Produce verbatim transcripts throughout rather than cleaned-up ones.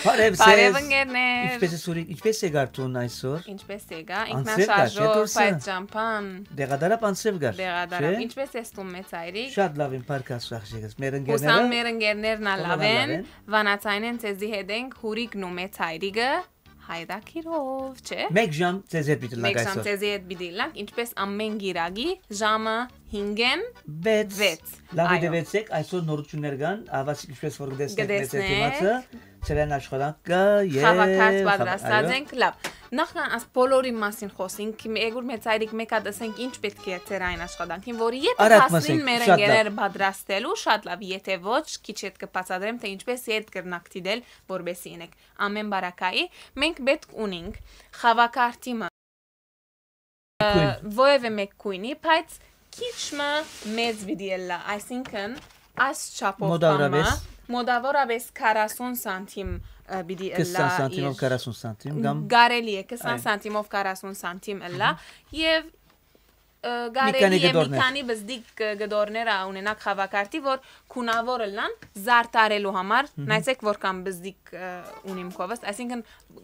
Բարև Բարև ձեզ։ Ընկերներ։ Ինչպե՞ս ես, Ուրիկ, ինչպե՞ս եկար դուն այսօր։ Ինչպե՞ս եկա։ Անձրև կար, չէ՞, Ինքնաշարժով, դուրսը։ Բայց ճամփան։ Դեղադարապ անձրև կար, Դեղադարապ, չէ՞։ Ինչպե՞ս ես դու, մեծ հայրիկ։ Շատ լաւ եմ, փառք Աստուծո, աղջիկս։ Մեր Հուսամ ընկերները մեր ընկերներն ալ հոլանալ լաւ են։ Են։ Վանաձայնէն ձեզի հետ ենք, Ուրիկն ու մեծ հայրիկը, հայդակիրով, չէ՞։ Մեկ ժամ ձեզ հետ պիտի լանք Մեկ ժամ այսօր։ Ձեզի հետ պիտի լանք, ինչպես ամեն գիրագի, ժամը հինգեն վեց։ Վեց։ Լաւ Այո։ Դեվեցեք, այսօր նորություններ կան, ավասիկ ինչպես որ կտեսնեք, մեծ Կտեսնեք։ Դիմացը, ծերային աշխատանք կա, եւ Խաղակարդ խաղ-, պատրաստած այո։ Ենք, լավ։ Նախքան աս բոլորի մասին խոսենք, եգուր մեծ հայրիկ մեկ հատ ասենք ինչ պետք է ծերային աշխատանքին, որ եթե Արագ հասնին ասենք, մեր շատ լավ։ Ընկերները պատրաստելու, շատ լավ, եթե ոչ, քիչ հետ կբացատրեմ, թե ինչպես հետ կրնակ դիտել, որպեսի ինեք։ Ամեն բարակայի, մենք պետք ունենք խաղակարդի մը, Քույն։ Ը, որևէ մեկ քույնի, բայց քիչ մը մեծ պիտի ըլլայ, այսինքն այս չափով Մոտավորապես։ Բան մը, մոտավորապես քառասուն սանտիմ, ը, պիտի ըլլայ քսան սանտիմով իր քառասուն սանտիմ, կամ կարելի է քսան Այո։ Սանտիմով քառասուն սանտիմ ըլլայ, Ահա։ Եվ, ը, Մի կարելի քանի է մի գդորներ։ Քանի բզդիկ, ը, գդորներ ա ունենաք խաղակարդի, որ քունավոր ըլլան զարտարելու համար, Ահա։ Նայեցեք որքան բզդիկ, ը, ունիմ քովս, այսինքն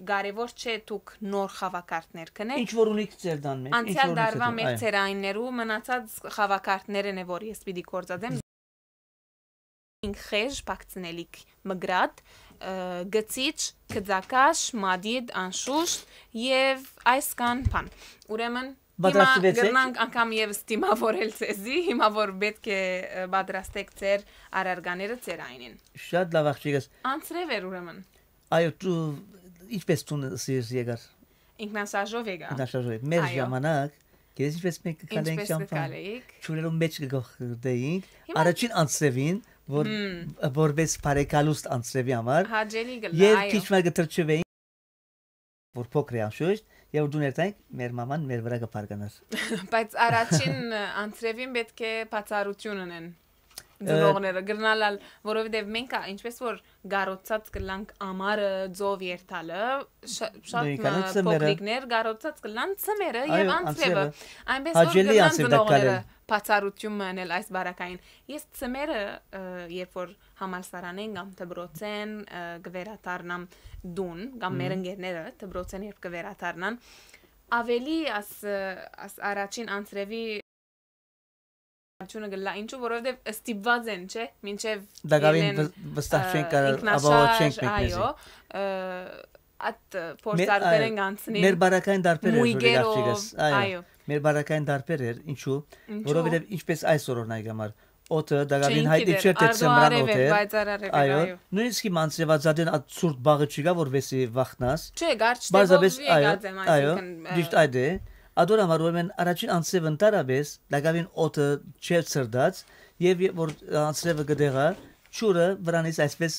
կարևոր չէ դուք նոր խաղակարդներ կնեք։ Ինչ որ ունիք ձեր տան մեջ, ինչ Անցյալ որ ունիք տարվա ձեր տան, մեր այո։ Ծերայիններու մնացած խաղակարդներն է, որ ես պիտի գործածեմ։ Ինք խեժ, փակցնելիք, մգրատ, ը, գցիչ, գծակաշ, մադիդ, անշուշտ, եւ այսքան բան։ Ուրեմն, հիմա Պատրաստվեցեք։ Կրնանք անգամ եւս դիմավորել ձեզի, հիմա որ պետք է, ը, պատրաստեք ձեր առարկաները ծերայինին։ Շատ լավ, աղջիկս։ Անցրև էր ուրեմն։ Այո, դու ինչպես դուն սիրես եկար։ Ինքնաշարժով եկա։ Ինքնաշարժով եք։ Մեր Այո։ Ժամանակ, գիտես ինչպես մենք կգալեինք Ինչպես ճամփան։ Կգալեիք։ Ջուրերուն մեջ կգողդեինք։ Հիմա Առաջին անցրևին, որ, Հմ։ Որպես բարեկալուստ անցրևի համար։ Հաճելի կլա, Եվ այո։ Քիչ մը կտրչվեինք, որ փոքր է անշուշտ, եւ որ դու ներտայինք, մեր մաման մեր վրա կփառկանար։ Բայց առաջին անցրևին պետք է բացառություն ունեն Ը, ծնողները, գրնալ ալ, որովհետև մենք, ա, ինչպես որ գառոցած կլանք ամառը, ծով երթալը, շա-, շատ Նույնքան մը է ծմերը։ Փոքրիկներ գառոցած կլան ծմերը և Այո, անցրևը։ Անցրևը։ Այնպես որ Հաճելի գնան անցրև ծնողները տակալել։ Բացառություն մը անել այս բարակային։ Ես ծմերը, ը, երբ որ համալսարանեն կամ դպրոցեն, ը, կվերադառնամ տուն, կամ մեր Մհմ։ Ընկերները դպրոցեն երբ կվերադառնան, ավելի աս, ը, աս առաջին անցրևի Ությունը գլա, ինչու, որովհետև ստիպված են, չէ, մինչև Դակավին ելեն, վս-, վստահ ը, չենք կարա-, ինքնաշարժ, ապահով չենք մեկնեզի։ Այո, ը, այդ, ը, Մեր, փորձարկներեն այո, գանցնին։ Մեր բարակային դարբեր էր, Մույգերով, Ժորիկ աղջիկս, այո, այո։ Մեր բարակային դարբեր էր, ինչու, Ինչու։ Որովհետև ինչպես այսօր օրինակ համար, օդը դակավին Չենք հայտնի գիտեր, չէր, թե ardô ծմրան արև օդ էր, էր, բայց արարև էր, այո, այո։ Նույնիսկ իմ անձրևածածին այդ ցուրտ բաղը չի գա, որպեսի վախնաս։ Չէ, կարճ Պարզապես, տեղով այո, եկած եմ, այո, այսինքն, ը, ճիշտ այդ է։ Ադոր համար ուրեմն առաջին անձրև ընդհանրապես դակավին օդը չէր ցրդած, և ե-, որ անձրևը կդեղա, ջուրը վրանից այսպես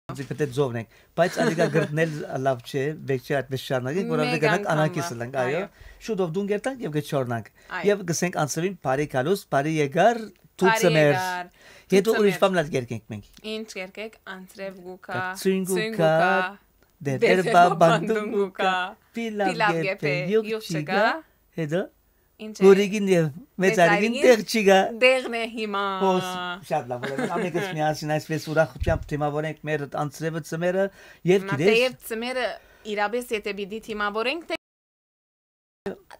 պետք է ձովնենք, բայց ալիգա գրտնել լավ չէ, պետք չէ այդպես շարունակենք, որ Մեկ ալիգա անգամ անակիս մը, լանք, այո, այո։ Շուտով դուն կերտանք և կչորնանք, Այո։ և կսենք անձրևին բարի կալուս, բարի եկար, դու Բարի ծմեր, եկար, դու հետո ուրիշ ծմեր։ Բան լալ կերկենք մենք։ Ինչ կերկեք, անձրև գուքա, Կա, ցույն գուքա, գուքա, դերդեր դերդեր բաբանդուն բաբանդուն գուքա, գուքա, պիլավ պիլավ գեփե, գեփե, յուղ յուղ չկա, չկա, հետո Ինչ է։ Գորիգին և Մեծ արիգին Արիգին տեղ չի գա։ Տեղն է հիմա։ Հոս, շատ լավ, ուրեմն ամենքս միասին այսպես ուրախությամբ դիմավորենք մեր անձրևը ծմերը և Մա գիտես թեև ծմերը իրապես եթե պիտի դիմավորենք, թե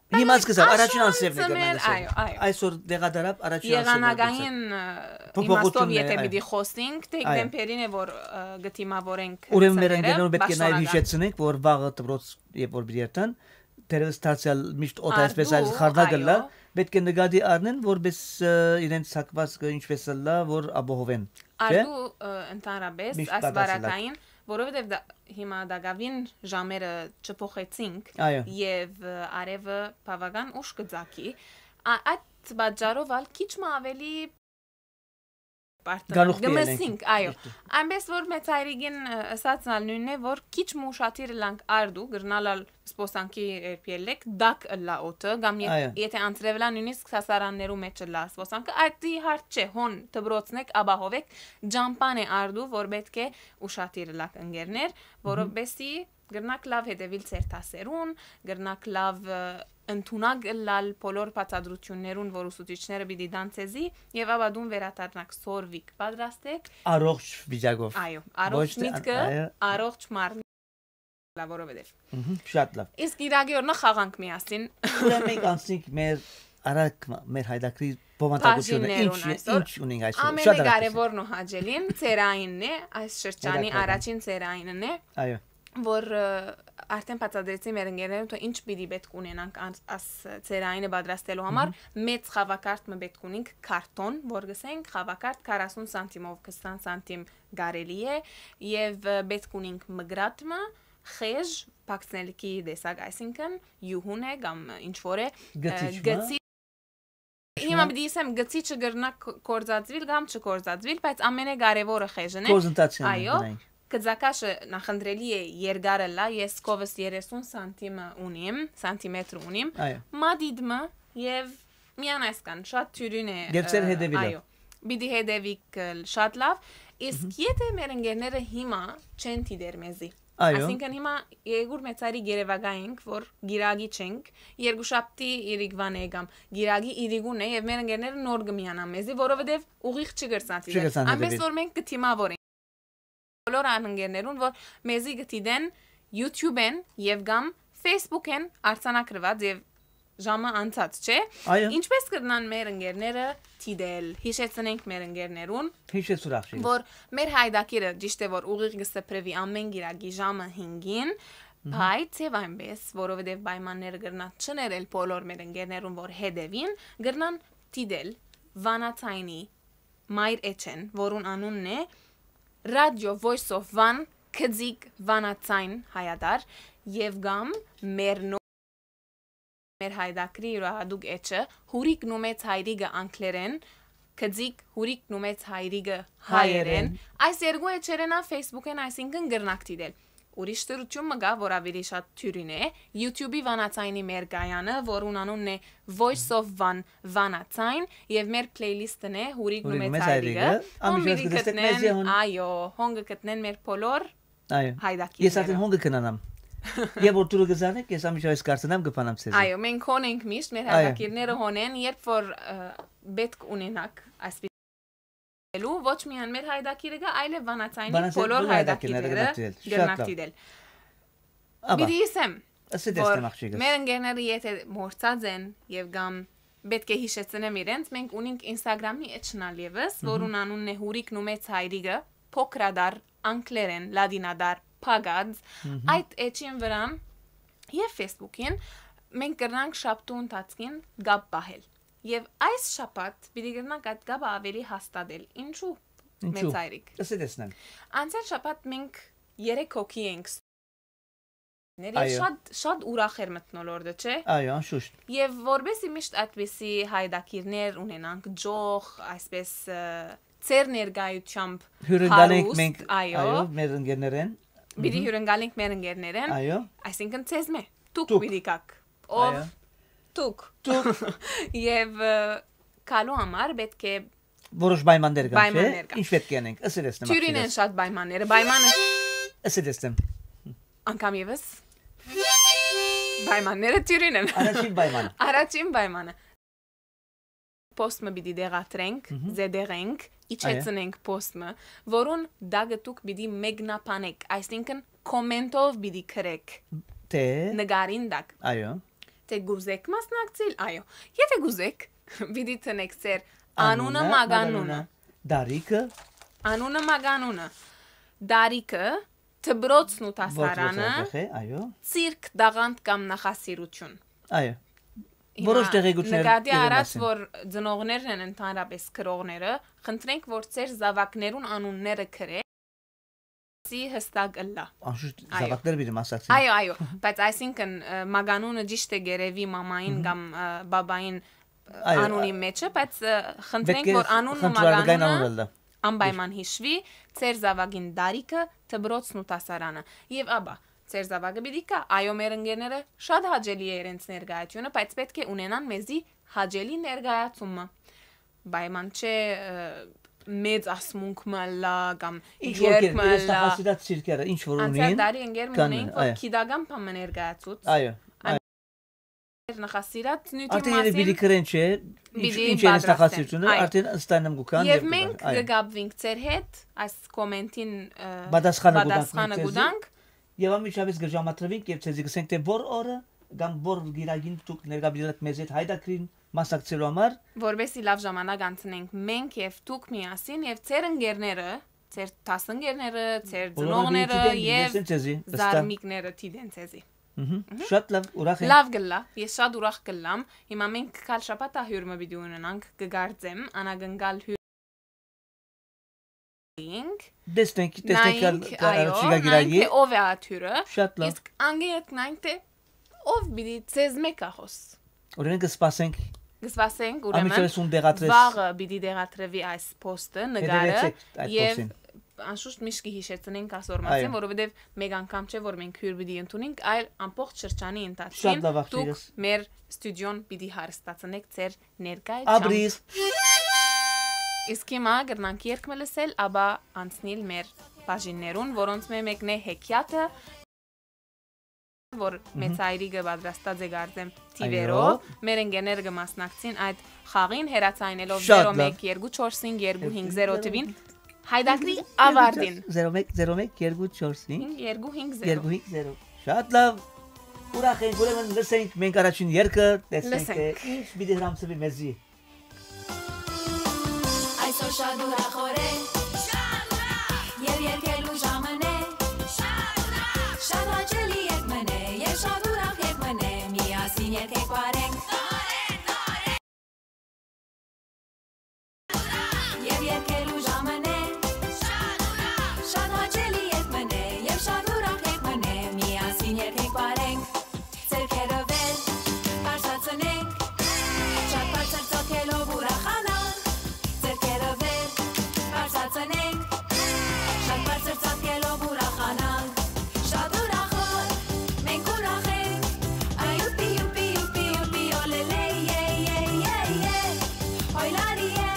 Հիմա սկսավ, առաջին անձրևն է ծմեր, կրնան ասել։ Այո, այո։ Այսօր դեղադարապ առաջին անձրևն է Եղանակային, գուցե։ Ը, Փոփոխությունն իմաստով է, եթե այո։ Պիտի խոսենք, թե Այո։ Դեմպերին է, որ, ը, գտիմավորենք Ուրեմն մեր ծմերը, ընկերներուն պետք է նաև պաշտոնական։ Հիշեցնենք, որ վաղը դպրոց, երբ որ պիտի երթան, դերևս դարձյալ միշտ օդ Արդու, այսպես այլ խարդա գլա, այո։ Պետք է նկատի առնեն, որպես, ը, իրենց հակվածքը ինչպես ըլլա, որ ապահովեն, չէ՞։ Արդու, ը, ընդհանրապես Միշտ այս պատասխանատու։ Բարակային, որովհետև դա, հիմա դակավին ժամերը չփոխեցինք Այո։ Եվ, ը, արևը բավական ուշ կծագի, ա-, այդ պատճառով ալ քիչ մը ավելի Արդեն գանուխ կը մսինք, այո։ Միշտ։ Այնպես որ մեծ հայրիկին, ը, ըսածն ալ նոյնն է, որ քիչ մը ուշադիր ըլլանք արդու, կրնալ ալ սպոսանքի երբ ելլեք, դակ ըլլա օդը, կամ ե-, այո, եթե անցրեւլա նույնիսկ սասարաններու մեջ ըլլա սպոսանքը, այդ ի հարց չէ, հոն դպրոցնեք, ապահովեք, ջամպան է արդու, որ պէտք է ուշադիր ըլլաք ընկերներ, որովհետեւ կրնաք լավ հետեւիլ ձեր դասերուն, կրնաք լավ, ը, ընդունակ ըլլալ բոլոր բացատրություններուն, որ ուսուցիչները պիտի տան ձեզի, եւ ապա դուն վերադառնաք սորվիկ, պատրաստեք։ Առողջ վիճակով։ Այո, առողջ ոչ թե, միտքը, այո, առողջ մարմին, լա, որովհետեւ։ Մհմ, շատ լավ։ Իսկ իրագի օրնա խաղանք միասին։ Ուրեմն մենք անցնենք մեր արագ մը, մեր հայդակրի բովանդակությունը։ Բաժիններուն ինչ, այսօր ինչ ունենք այսօր։ Շատ արագ։ Ամենակարևորն ու հաճելին ծերայինն է, այս շրջանի, հետաքրքրական, առաջին ծերայինն է, այո, որ, ը, արդեն բացատրեցի մեր ընկերներուն, թէ ինչ պիտի պէտք ունենանք անց-, աս ծերայինը պատրաստելու համար։ Մհմ։ Մեծ խաղակարդ մը պէտք ունենք, քարտոն, որ գսենք, խաղակարդ քառասուն սանտիմով, քսան սանտիմ կարելի է, եւ, ը, պէտք ունենք մկրատ մը, խեժ, բակցնելիքի տեսակ, այսինքն՝ յուհուն է կամ ինչ որ է, ը, գցիչ մը, գցի-, հիմա պիտի ասեմ, գցիչը կրնա կ-, կործածուիլ կամ չկործածուիլ, բայց ամենակարևորը խեժն է։ Կորզընթացքն է, այո, գնային։ Գծակաշը նախընտրելի է երկար ըլլա, ես քովս երեսուն սանտիմը ունիմ, սանտիմետր ունիմ, այո, մատիտմը, եւ միան այսքան, շատ թիւրին է, եւ ձեր, ը, հետեւիլը, այո, պիտի հետեւիք, ը, շատ լավ, իսկ, մհմ, եթե մեր ընկերները հիմա չեն դիտեր մեզի, այո, այսինքն հիմա երկուր մեծարի երևակայենք, որ գիրագի չենք, երկուշաբթի իրիկվան է կամ գիրագի իրիկուն է, եւ մեր ընկերները նոր կը միանան մեզի, որովհետեւ ուղիղ չի կրցան դիտել։ Չի կրցան, այնպես դիտել, որ մենք կը դիմավորենք բոլոր անընկերներուն, որ մեզի կը դիտեն YouTube-են եւ կամ Facebook-են արձանագրուած եւ ժամը անցած, չէ՞։ Այո։ Ինչպես կրնան մեր ընկերները դիտել, հիշեցնենք մեր ընկերներուն, հիշեցուր, ախշի, որ մեր հայդակիրը ճիշդ է, որ ուղիղ կը սփռուի ամէն գիրագի ժամը հինգին, մհմ, բայց եւ այնպես, որովհետեւ պայմանները կրնան չներել բոլոր մեր ընկերներուն, որ հետեւին, կրնան դիտել Վանաձայնի մայր էջեն, որուն անունն է Ռադիո Voice of Van, Քծիկ Վանաձայն հայատար, եւ կամ մեր նոր, մեր հայդակրի յուրահատուկ էջը Հուրիկն ու մեծ հայրիկը անգլերեն, Քծիկ Հուրիկն ու մեծ հայրիկը հայերեն։ Հայերեն։ Այս երկու էջերեն ա Facebook-ին, այսինքն՝ կրնաք դիտել։ Ուրիշ դրություն մը կա, որ աւելի շատ թիւրին է, YouTube-ի Վանաձայնի մեր կայանը, որուն անունն է Voice of Van Վանաձայն, եւ մեր playlist-ն է Հուրիկն ու Հուրիկն մեծ մեծ հայրիկը, հայրիկը։ Հոն անմիջապես պիտի կտեսնեք գտնեն, մեզի հոն, այո, հոն կը գտնեն մեր բոլոր, այո, հայդակիրները։ Ես արդեն հոն կը քնանամ։ Երբ որ դուք կը զանեք, ես անմիջապես կարծենամ կը փանամ ձեզի։ Այո, մենք հոն ենք միշտ, մեր, այո, հայդակիրները հոն են, երբ որ, ը, պէտք ունենաք այսպիսի դիտելու, ոչ միայն մեր հայդակիրը կա, այլեւ Վանաձայնի Վանաձայնի բոլոր բոլոր հայդակիրները հայդակիրները կրնաք դիտել։ Շատ լավ։ Կրնաք դիտել։ Ապա, պիտի ըսեմ, ըսի որ դեսնեմ, աղջիկս, մեր ընկերները եթե մոռցած են եւ կամ պէտք է հիշեցնեմ իրենց, մենք ունենք Instagram-ի էջն ալ եւս, մհմ, որուն անունն է Հուրիկն ու մեծ հայրիկը, փոքրադար, անգլերեն, լատինադար, փակած, մհմ, այդ էջին վրան եւ Facebook-ին մենք կրնանք շաբթու ընթացքին կապ պահել։ Եւ այս շաբաթ պիտի կրնանք այդ կապը աւելի հաստատել։ Ինչու՞, ինչու, մեծ հայրիկ։ Ըսի դեսնեմ։ Անցյալ շաբաթ մենք երեք հոգի ենք ներ, եւ, այո, շատ, շատ ուրախ էր մթնոլորտը, չէ՞։ Այո, անշուշտ։ Եվ որպեսզի միշտ այդպիսի հայդակիրներ ունենանք, ջող, այսպես, ը, ձեր ներկայությամբ հյուրընկալենք հարուստ, մենք, այո, այո, մեր ընկերներեն։ Պիտի, մհմ, հյուրընկալենք մեր ընկերներեն, այո, այսինքն՝ ձեզմէ, դուք, դուք պիտի գաք, ով, այո, դուք։ Դուք։ Եւ, ը, գալու համար պէտք է որոշ պայմաններ կան, չէ՞։ Պայմաններ կան։ Ինչ պէտք է անենք, ըսի դեսնեմ, թիւրին են աղջիկս, շատ պայմանները, պայմանը։ Ըսի դեսնեմ։ Անգամ եւս պայմանները թիւրին են։ Առաջին պայման։ Առաջին պայմանը։ Post-ը պիտի դեղատրենք, մհմ, զետեղենք, այո, իջեցնենք post-ը, որուն տակը դուք պիտի մեկնաբանեք, այսինքն՝ comment-ով պիտի գրեք, թե, նկարին տակ, այո, թե կուզեք մասնակցիլ, այո։ Եթե կուզեք, պիտի տնեք ձեր անունը, անունը, մականունը, մականունը, դարիքը, անունը, մականունը, դարիքը, դպրոցն ու դասարանը, դպրոց, այո, ցիրկ, տաղանդ կամ նախասիրություն։ Այո։ Հիմա որոշ տեղեկություններ նկատի իրեն առած, մասին, որ ծնողներն են ընդհանրապես գրողները, խնդրենք, որ ձեր զաւակներուն անունները գրեք, սի հստակ ըլլա։ Անշուշտ, այո, զաւակները պիտի մասնակցեն։ Այո, այո, բայց այսինքն, ը, մականունը ճիշտ է գերեւի մամային, մհմ, կամ, ը, բաբային, ը, այո, անունի, ա, մեջը, բայց, ը, խնդրենք, պէտք է որ անունն ու խնդրունակային մականունը անուն ըլլա։ Անպայման հիշուի, ձեր զաւակին տարիքը, դպրոցն ու դասարանը։ Եւ ապա, ձեր զաւակը պիտի գայ, այո, մեր ընկերները շատ հաճելի է իրենց ներկայությունը, բայց պէտք է ունենան մեզի հաճելի ներկայացումը։ Պայման չէ, ը, մեծ ասմունք մը ըլլայ կամ Ինչ որ երգ կերպ, մը իրենց ըլլայ։ Նախասիրած ցիրկերը, ինչ որ Անցյալ ունին, տարի ընկեր մը կան, ունեինք, որ այո։ Գիտական բան մը ներկայացուց։ Այո, Ան- այո։ Նախասիրած նիւթի Արդեն երբ պիտի մասին գրեն, չէ, ինչ, պիտի ինչ է իրենց պատրաստեն, նախասիրությունը, այո։ Արդեն ստանեմ գուքան Եւ եւ մենք կգաբվենք ձեր հետ, այս կոմենտին, ը, Պատասխանը կուտանք պատասխանը մենք ձեզի։ կուտանք։ Եւ անմիջապէս կժամատրվենք եւ ձեզի կսենք, թե որ օրը կամ որ գիրագին դուք ներկայ պիտի ըլլաք մեզ հետ հայդակրին մասնակցելու համար։ Որպեսզի լաւ ժամանակ անցնենք մենք եւ դուք միասին եւ ձեր ընկերները, ձեր դասընկերները, ձեր Բոլորը ծնողները պիտի դիտեն, եւ լսեն ձեզի, վստահ։ Զարմիկները դիտեն ձեզի։ Մհմ, շատ լավ, ուրախ եմ։ Լաւ կ'ըլլայ, ես շատ ուրախ կ'ըլլամ։ Հիմա մենք գալ շաբաթ հիւր մը պիտի ունենանք, կկարծեմ, անակնկալ հիւր ենք, Տեսնենք, տեսնենք նայենք, կա-, կա-, այո, չկա նայենք, գիրագի։ Թե ով է աթ հիւրը, Շատ լավ։ Իսկ անգետ նայենք, թե ով պիտի ձեզ մէկ ախոս։ Ուրեմն կսպասենք։ Կսպասենք, ուրեմն, Անմիջապես ուն դեղադրես։ Վաղը պիտի դեղադրվի այս post-ը, նկարը, Հետևեցեք այդ եւ post-ին։ Անշուշտ միշտ կհիշեցնենք ասոր մասին, Այո։ Որովհետեւ մեկ անգամ չէ, որ մենք հիւր պիտի ընդունենք, այլ ամբողջ շրջանի ընթացքին Շատ լավ, աղջիկս։ Դուք մեր ստուդիոն պիտի հարստացնեք ձեր ներկայությամբ։ Ապրիր։ Իսկ հիմա կրնանք երգ մը լսել, ապա անցնիլ մեր բաժիններուն, որոնց մէ մեկն է հեքիաթը, որ Մհմ։ Մեծ հայրիկը պատրաստած է, կարծեմ, Այո։ Թիվերով, մեր ընկերները կը մասնակցին այդ խաղին, հեռացայնելով Շատ լավ։ Զերո մեկ երկու չորս հինգ երկու հինգ զերո թիվին, հայդակրի ավարտին։ Զերո մեկ, զերո մեկ երկու չորս հինգ երկու հինգ զերո։ երկու հինգ զերո։ Շատ լավ։ Ուրախ ենք, ուրեմն լսենք մենք առաջին երգը, տեսնենք, Լսենք։ Թե ինչ պիտի հրամցվի մեզի։ Այսօր շատ ուրախ օր է, շատ ուրախ, եւ երգելու ժամն է, շատ ուրախ, շատ հաճելի երգ մն է, եւ շատ ուրախ երգ մն է, միասին երգենք, պարենք, նորեն, նորեն, ուրախ, եւ երգելու ժամն է, շատ ուրախ, շատ հաճելի երգ մն է, եւ շատ ուրախ երգ մն է, միասին երգենք, պարենք, ձեռքերը վեր, բարձրացնենք, շատ բարձր ծոքելով ուրախանանք, ձեռքերը վեր, բարձրացնենք, շատ բարձր ծոքելով ուրախանանք, շատ ուրախ օր, մենք ուրախ ենք, այ յուպի, յուպի, յուպի, յուպի, օլելե, ե, ե, ե, ե, օյ լարի, ե,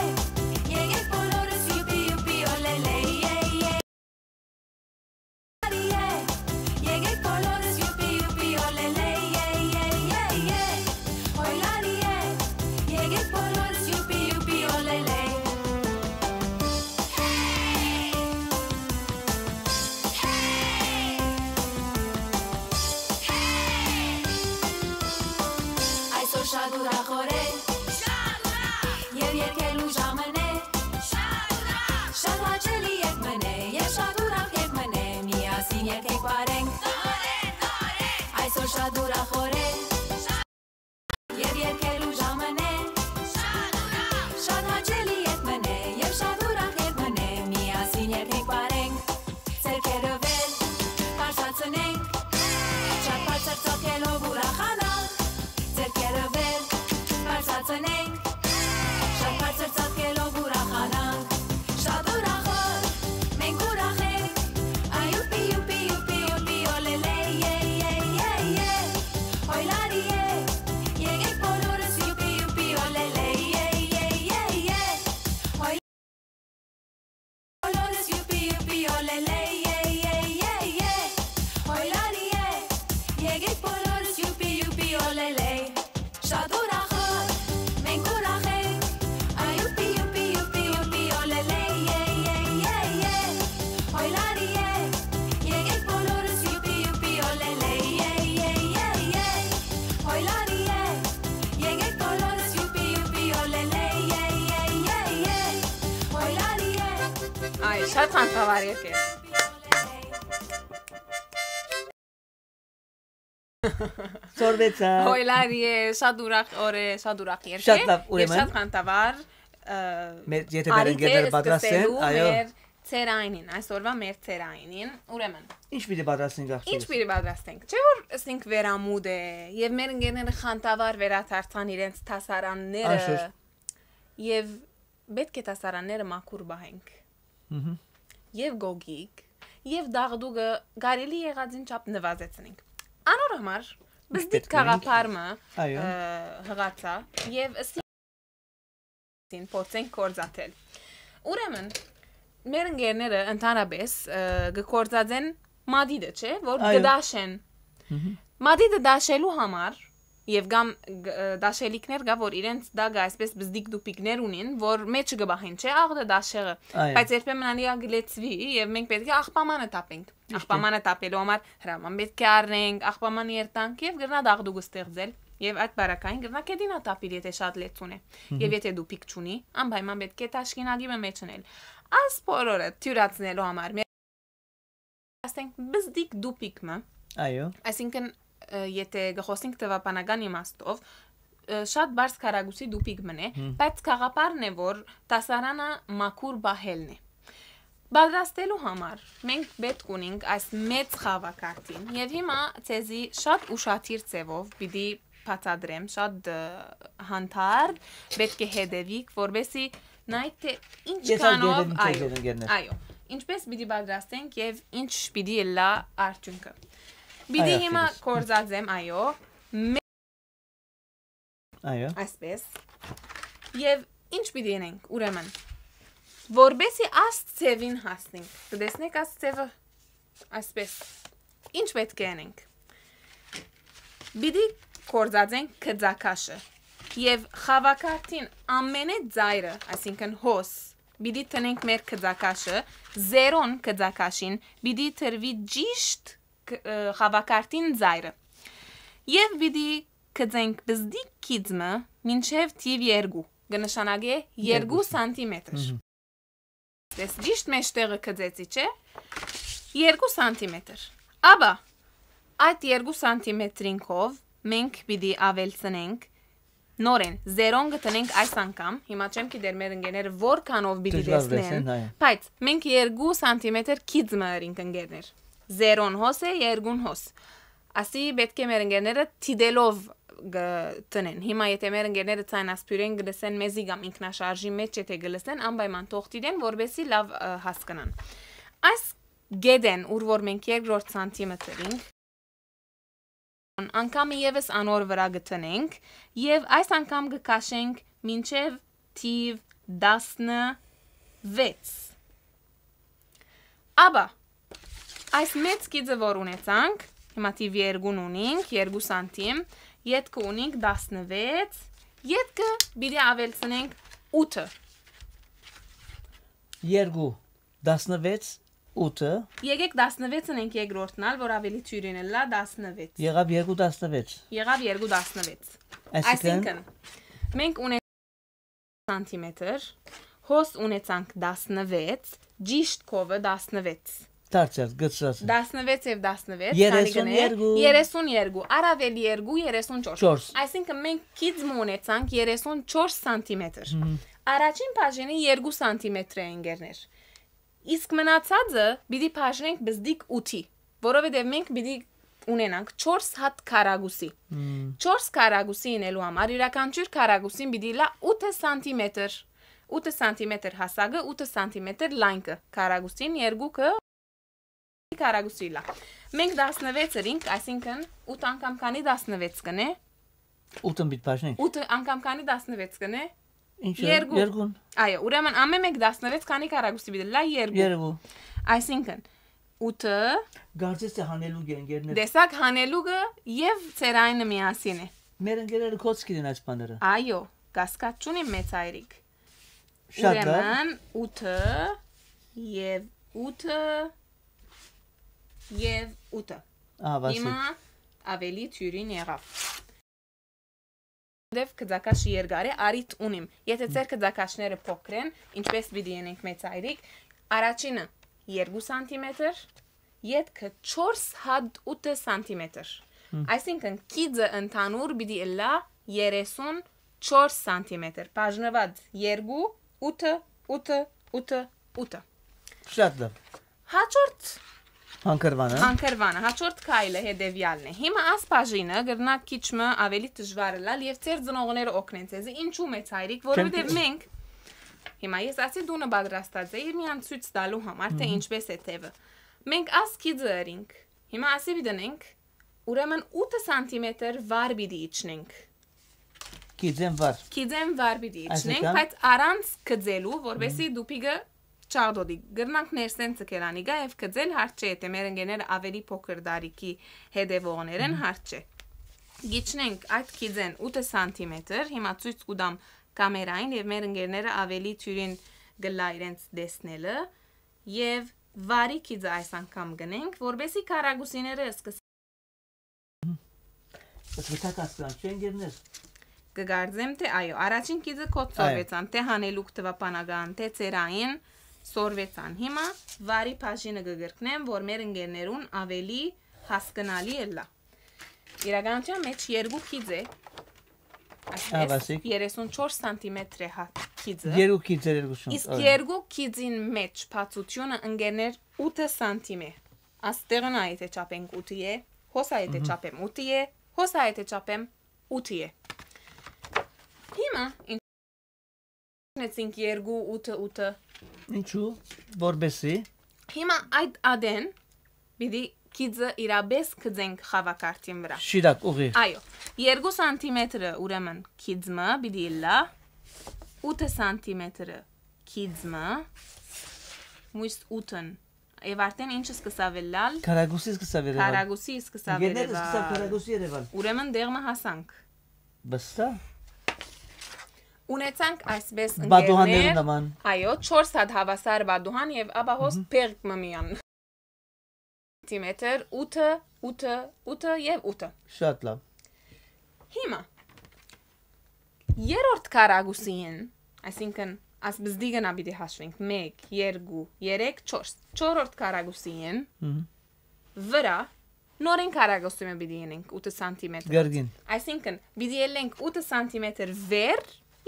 եկեք բոլորս յուպի, յուպի, օլելե, ե, ե, Եկեք բոլորս յուպի, յուպի, օլելե, ե, ե, ե, ե, օյ լարի, ե, եկեք բոլորս յուպի, յուպի, օլելե։ Այսօր շատ ուրախ օր է, շատ ուրախ, եւ երգելու ժամն է, շատ ուրախ, շատ հաճելի երգ մն է, եւ շատ ուրախ երգ մն է, միասին երգենք, պարենք, նորեն, նորեն, այսօր շատ ուրախ օր է, շատ, եւ երգելու ժամն է, շատ ուրախ, շատ հաճելի երգ մն է, եւ շատ ուրախ երգ մն է, միասին երգենք, պարենք, ձեռքերը վեր, բարձրացնենք, շատ բարձր ծոքելով ուրախանանք, ձեռքերը վեր, բարձրացնենք, շատ բարձր ծոքելով ուրախանանք, շատ ուրախ օր, մենք ուրախ ենք, այ յուպի, յուպի, յուպի, յուպի, օլելե, ե, ե, ե, ե, օյ լարի, ե, եկեք բոլորս յուպի, յուպի, օլելե, ե, ե, ե, ե, օյ Բոլորս յուպի, յուպի, օլելե, ե, ե, ե, ե, օյ լարի, ե, եկեք բոլորս յուպի, յուպի, օլելե, շատ ուրախ օր, մենք ուրախ ենք, այ յուպի, յուպի, յուպի, յուպի, օլելե, ե, ե, ե, ե, օյ լարի, ե, եկեք բոլորս յուպի, յուպի, օլելե, ե, ե, ե, ե, օյ լարի, ե, եկեք բոլորս յուպի, յուպի, օլելե, ե, ե, ե, ե, օյ լարի, ե։ Այ, շատ խանդավառ երգ է։ Սորվեցա։ Օյ լարի, ե, շատ ուրախ օր է, շատ ուրախ երգ է։ Շատ լավ, ուրեմն։ Եւ շատ խանդավառ, ը, Մեր, եթե մեր արիթ է ընկերները պատրաստ են, սկսելու այո։ Մեր ցերայինին, այսօրվա մեր ցերայինին, ուրեմն։ Ինչ պիտի պատրաստենք, աղջիկս։ Ինչ պիտի պատրաստենք։ Չէ՞ որ ասենք վերամուտ է, եւ մեր ընկերները խանդավառ վերադարձան իրենց դասարանները, Անշուշտ։ Եւ պէտք է դասարանները մաքուր պահենք։ Մհմ։ Եւ գոգիկ, եւ դաղդուկը կարելի եղածին չափ նվազեցնենք։ Անոր համար բզդիկ կաղապար մը, այո, ը, հղացա եւ ըսին փորձենք կործատել։ Ուրեմն, մեր ընկերները ընդհանրապես, ը, կկործածեն մադիդը, չէ՞, որ, այո, կդաշեն։ Մհմ։ Մադիդը դաշելու համար, եւ կամ գ-, ը, դաշելիքներ կա, որ իրենց տակը այսպես բզդիկ դուփիկներ ունին, որ մեջը կը բահին, չէ՞, աղդը դաշեղը։ Այո։ Բայց երբեմն անիկա կը լեցուի, եւ մենք պէտք է աղբամանը տապենք։ Ճիշդ է։ Աղբամանը տապելու համար հրաման պէտք է առնենք, աղբաման երթանք եւ կրնայ դաղդուկ ստեղծել, եւ այդ բարակային կրնայ կեդինա տապիլ, եթե շատ լեցուն է։ Մհմ։ Եւ եթե դուփիկ չունի, անպայման պէտք է թաշկինակի մը մեջ ընել։ Այս բոլորը թիւրացնելու համար, մեր, ասենք, բզդիկ դուփիկ մը, այո, այսինքն, ը, եթե կը խոսենք տվաբանական իմաստով, ը, շատ բարձ քառակուսի դուփիկ մն է, հմ, բայց գաղափարն է, որ դասարանը մաքուր պահելն է։ Պատրաստելու համար մենք պէտք ունենք այս մեծ խաւակարդին, եւ հիմա ձեզի շատ ուշադիր ձեւով պիտի բացատրեմ, շատ, ը, հանդարտ պէտք է հետեւիք, որպեսզի նայեք, թե ինչքանով, այո, այո, ինչպես պիտի պատրաստենք եւ ինչ պիտի ըլլայ արդիւնքը։ Պիտի, այո, հիմա կործածեմ, այո, մե-, այո, այսպես։ Եւ ինչ պիտի ընենք, ուրեմն, որպեսզի աս ձեւին հասնենք։ Կտեսնեք աս ձեւը, այսպես։ Ինչ պէտք է ընենք։ Պիտի կործածենք կծակաշը եւ խաւակարդին ամենէ ծայրը, այսինքն՝ հոս, պիտի տնենք մեր կծակաշը, զերոն կծակաշին պիտի տրուի ճիշտ կ-, ը, խաւակարդին ծայրը։ Եւ պիտի կծենք բզդիկ կիծ մը մինչեւ թիւ երկու, կը նշանակէ երկու, երկու սանտիմետր։ Մհմ։ Ես ճիշտ մեջտեղը կծեցի, չէ՞։ Երկու սանտիմետր։ Աբա, այդ երկու սանտիմետրին քով մենք պիտի ավելցնենք նորեն, զերոն կը տնենք այս անգամ, հիմա չեմ գիտեր մեր ընկերները որքանով պիտի, դժուար տեսնեն, տեսնեն, այո, բայց մենք երկու սանտիմետր կիծ մը ըրինք, ընկերներ։ Զերոն հոս է, երկուն հոս։ Ասի պէտք է մեր ընկերները դիտելով կը տնեն։ Հիմա եթե մեր ընկերները ցայնասփիւռէն կը լսեն մեզի կամ ինքնաշարժի մէջ եթե կը լսեն, անպայման թող դիտեն, որպեսզի լաւ, ը, հասկնան։ Այս գետեն, ուր որ մենք երկրորդ սանտիմետրին, անգամը եւս անոր վրայ կը տնենք եւ այս անգամ կը քաշենք մինչեւ թիվ տասնվեց։ Աբա, այս մեծ կիծը որ ունեցանք, հիմա թիվ երկուն ունինք, երկու սանտիմ, ետքը ունինք տասնվեց, ետքը պիտի ավելցնենք ութը։ Երկու, տասնվեց, ութը։ Եկեք տասնվեցն ենք երկրորդն ալ, որ ավելի թիւրին ըլլայ, տասնվեց։ Եղաւ երկու տասնվեց։ Եղաւ երկու տասնվեց։ Այսինքն, այսինքն, մենք ունենք սանտիմետր, հոս ունեցանք տասնվեց, ճիշտ քովը տասնվեց։ Դարձյալ, գցած է։ Տասնվեց եւ տասնվեց, քանի կ'ընէ, երեսուն երկու։ Երեսուն երկու, առաւել երկու, երեսուն չորս։ Չորս։ Այսինքն, մենք կիծ մը ունեցանք երեսուն չորս սանտիմետր։ Մհմ։ Առաջին բաժինը երկու սանտիմետր է, ընկերներ։ Իսկ մնացածը պիտի բաժնենք բզդիկ ութի, որովհետեւ մենք պիտի ունենանք չորս հատ քառակուսի։ Մմ։ Չորս քառակուսի ինելու համար յուրաքանչյուր քառակուսին պիտի լա ութը սանտիմետր։ Ութը սանտիմետր հասակը, ութը սանտիմետր լայնքը, քառակուսին երկուքը քառակուսի լա։ Մենք տասնվեց ըրինք, այսինքն՝ ութ անգամ քանի տասնվեց կ'ընէ։ Ութը պիտի բաժնենք։ Ութը անգամ քանի տասնվեց կ'ընէ։ Ինչը, երկու։ Երկուն։ Այո, ուրեմն ամէն մէկ տասնվեց քանի քառակուսի պիտի լա, երկու։ Երկու։ Այսինքն՝ ութը, կարծես թե հանելուկ է, ընկերներ։ Տեսակ, հանելուկը եւ ծերայինը միասին է։ Մեր ընկերները կոչ կ'ըրեն այս բաները։ Այո, կասկած չունի, մեծ հայրիկ։ Շատ լավ։ Ուրեմն՝ ութը եւ ութը եւ ութը։ Ահա, Վասիլ։ Հիմա ավելի թիւրին եղաւ։ Դեւ կծակաշը երկար է, արիթ ունիմ։ Եթե ձեր կծակաշները փոքր են, ինչպես պիտի ընենք, մեծ հայրիկ, առաջինը երկու սանտիմետր, ետքը չորս հատ ութը սանտիմետր։ Հմ։ Այսինքն՝ կիծը ընդհանուր պիտի ըլլայ երեսուն չորս սանտիմետր, բաժնուած երկու, ութը, ութը, ութը, ութը։ Շատ լավ։ Հաջորդ հանգրվանը։ Հանգրվանը, հաջորդ քայլը հետեւեալն է։ Հիմա աս բաժինը կրնայ քիչ մը ավելի դժուար ըլլալ եւ ձեր ծնողները օգնեն ձեզի։ Ինչու՞, մեծ հայրիկ, որովհետեւ չեմ մենք Հիմա ես ասի տունը պատրաստած էի միան ցոյց տալու համար, թե Մհմ։ ինչպես է թեւը։ Մենք աս քիծը ըրինք։ Հիմա ասի պիտի ընենք, ուրեմն ութը սանտիմետր վար պիտի իջնենք։ Քիծեն վար։ Քիծեն վար պիտի Այսինքն? իջնենք, բայց առանց գծելու, որպեսզի Մհմ։ դուփիկը չաղտոտի։ Կրնանք ներսէն ցկել անիկա եւ գծել, հարց չէ, եթե մեր ընկերները ավելի փոքր դարիքի հետեւողներ են, Մհմ։ հարց չէ։ Գիչնենք այդ քիծեն ութը սանտիմետր, հիմա ցոյց կու տամ կամերային եւ մեր ընկերները ավելի թիւրին կ'ըլլայ իրենց տեսնելը եւ վարի քիծը այս անգամ գնենք, որպեսզի քառակուսիները սկսեն Ըսկտա կասկան, չեն գերներ։ Կգարձեմ, թե այո, առաջին քիծը քոց Այո։ սորվեցան, թե հանելուկ թվապանական, թե ծերային սորվեցան։ Հիմա վարի բաժինը կգրկնեմ, որ մեր ընկերներուն ավելի հասկնալի ըլլա։ Իրականության մեջ երկու քիծ է, Ահա, այսպես, Վասիկ։ երեսուն չորս սանտիմետր է հա քիծը, Երկու քիծեր երկու շունչ, իսկ այո։ երկու քիծին մեջ բացությունը ընկերներ ութը սանտիմ է։ Աստեղն ա եթե չափենք ութի է, հոս ա եթե Մհմ։ չափեմ ութի է, հոս ա եթե չափեմ ութի է։ Հիմա ինչ ունեցինք երկու, ութը, ութը։ Ինչու, որպեսի։ Հիմա այդ ադեն պիտի քիծը իրապես գծենք խաւակարդին վրա։ Շիրակ, ուղի։ Այո, երկու սանտիմետրը ուրեմն քիծմը պիտի ըլլա, ութը սանտիմետրը քիծմը, մույս ութն, եւ արդեն ինչը սկսաւ ըլլալ, Քարագուսի սկսաւ երևալ։ Քարագուսի սկսավ Գերները սկսաւ երևալ։ Քարագուսի երևալ։ Ուրեմն դեղմը հասանք։ Վստահ։ Ունեցանք այսպես Բադուհաններու ընկերներ, նման։ Այո, չորս հատ հավասար բադուհան եւ ապա հոս Մհմ։ բերք մը միան։ Սանտիմետր, ութը, ութը, ութը եւ ութը։ Շատ լավ։ Հիմա, երրորդ քարագուսին, այսինքն, ասպզդի գնա պիտի հաշվենք, մեկ, երկու, երեք, չորս, չորրորդ քարագուսին Մհմ։ վրա նորին քարագուսի մը պիտի ընենք, ութը սանտիմետր։ Գերգին։ Այսինքն, պիտի ելենք ութը սանտիմետր վեր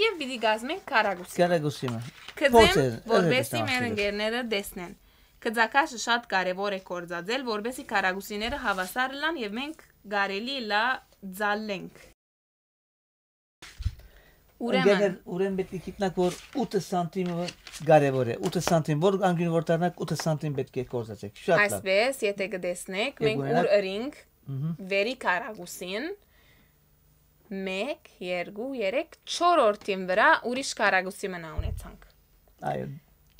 եւ պիտի գազմենք քարագուսի։ Քարագուսի մը։ Կծեմ, Փոքր, որպեսզի էլի մեր քարագուսի։ ընկերները տեսնեն։ Կծակաշը շատ կարեւոր է կործածել, որպեսզի քարագուսիները հավասար ըլլան եւ մենք կարելի լա ձալենք։ Ուրեմն, Ընկերներ, ուրեմն պետք է գիտնաք, որ ութը սանտիմը կարեւոր է։ Ութը սանտիմ, որ անգին որ դառնաք, ութը սանտիմ պետք է կործածեք։ Շատ լավ։ Այսպես, եթե կտեսնեք, Եկ մենք ունենաք։ ուր ըրինք, Մհմ։ վերի քարագուսին, մեկ, երկու, երեք, չորրորդին վրա ուրիշ քարագուսի մնա ունեցանք։ Այո։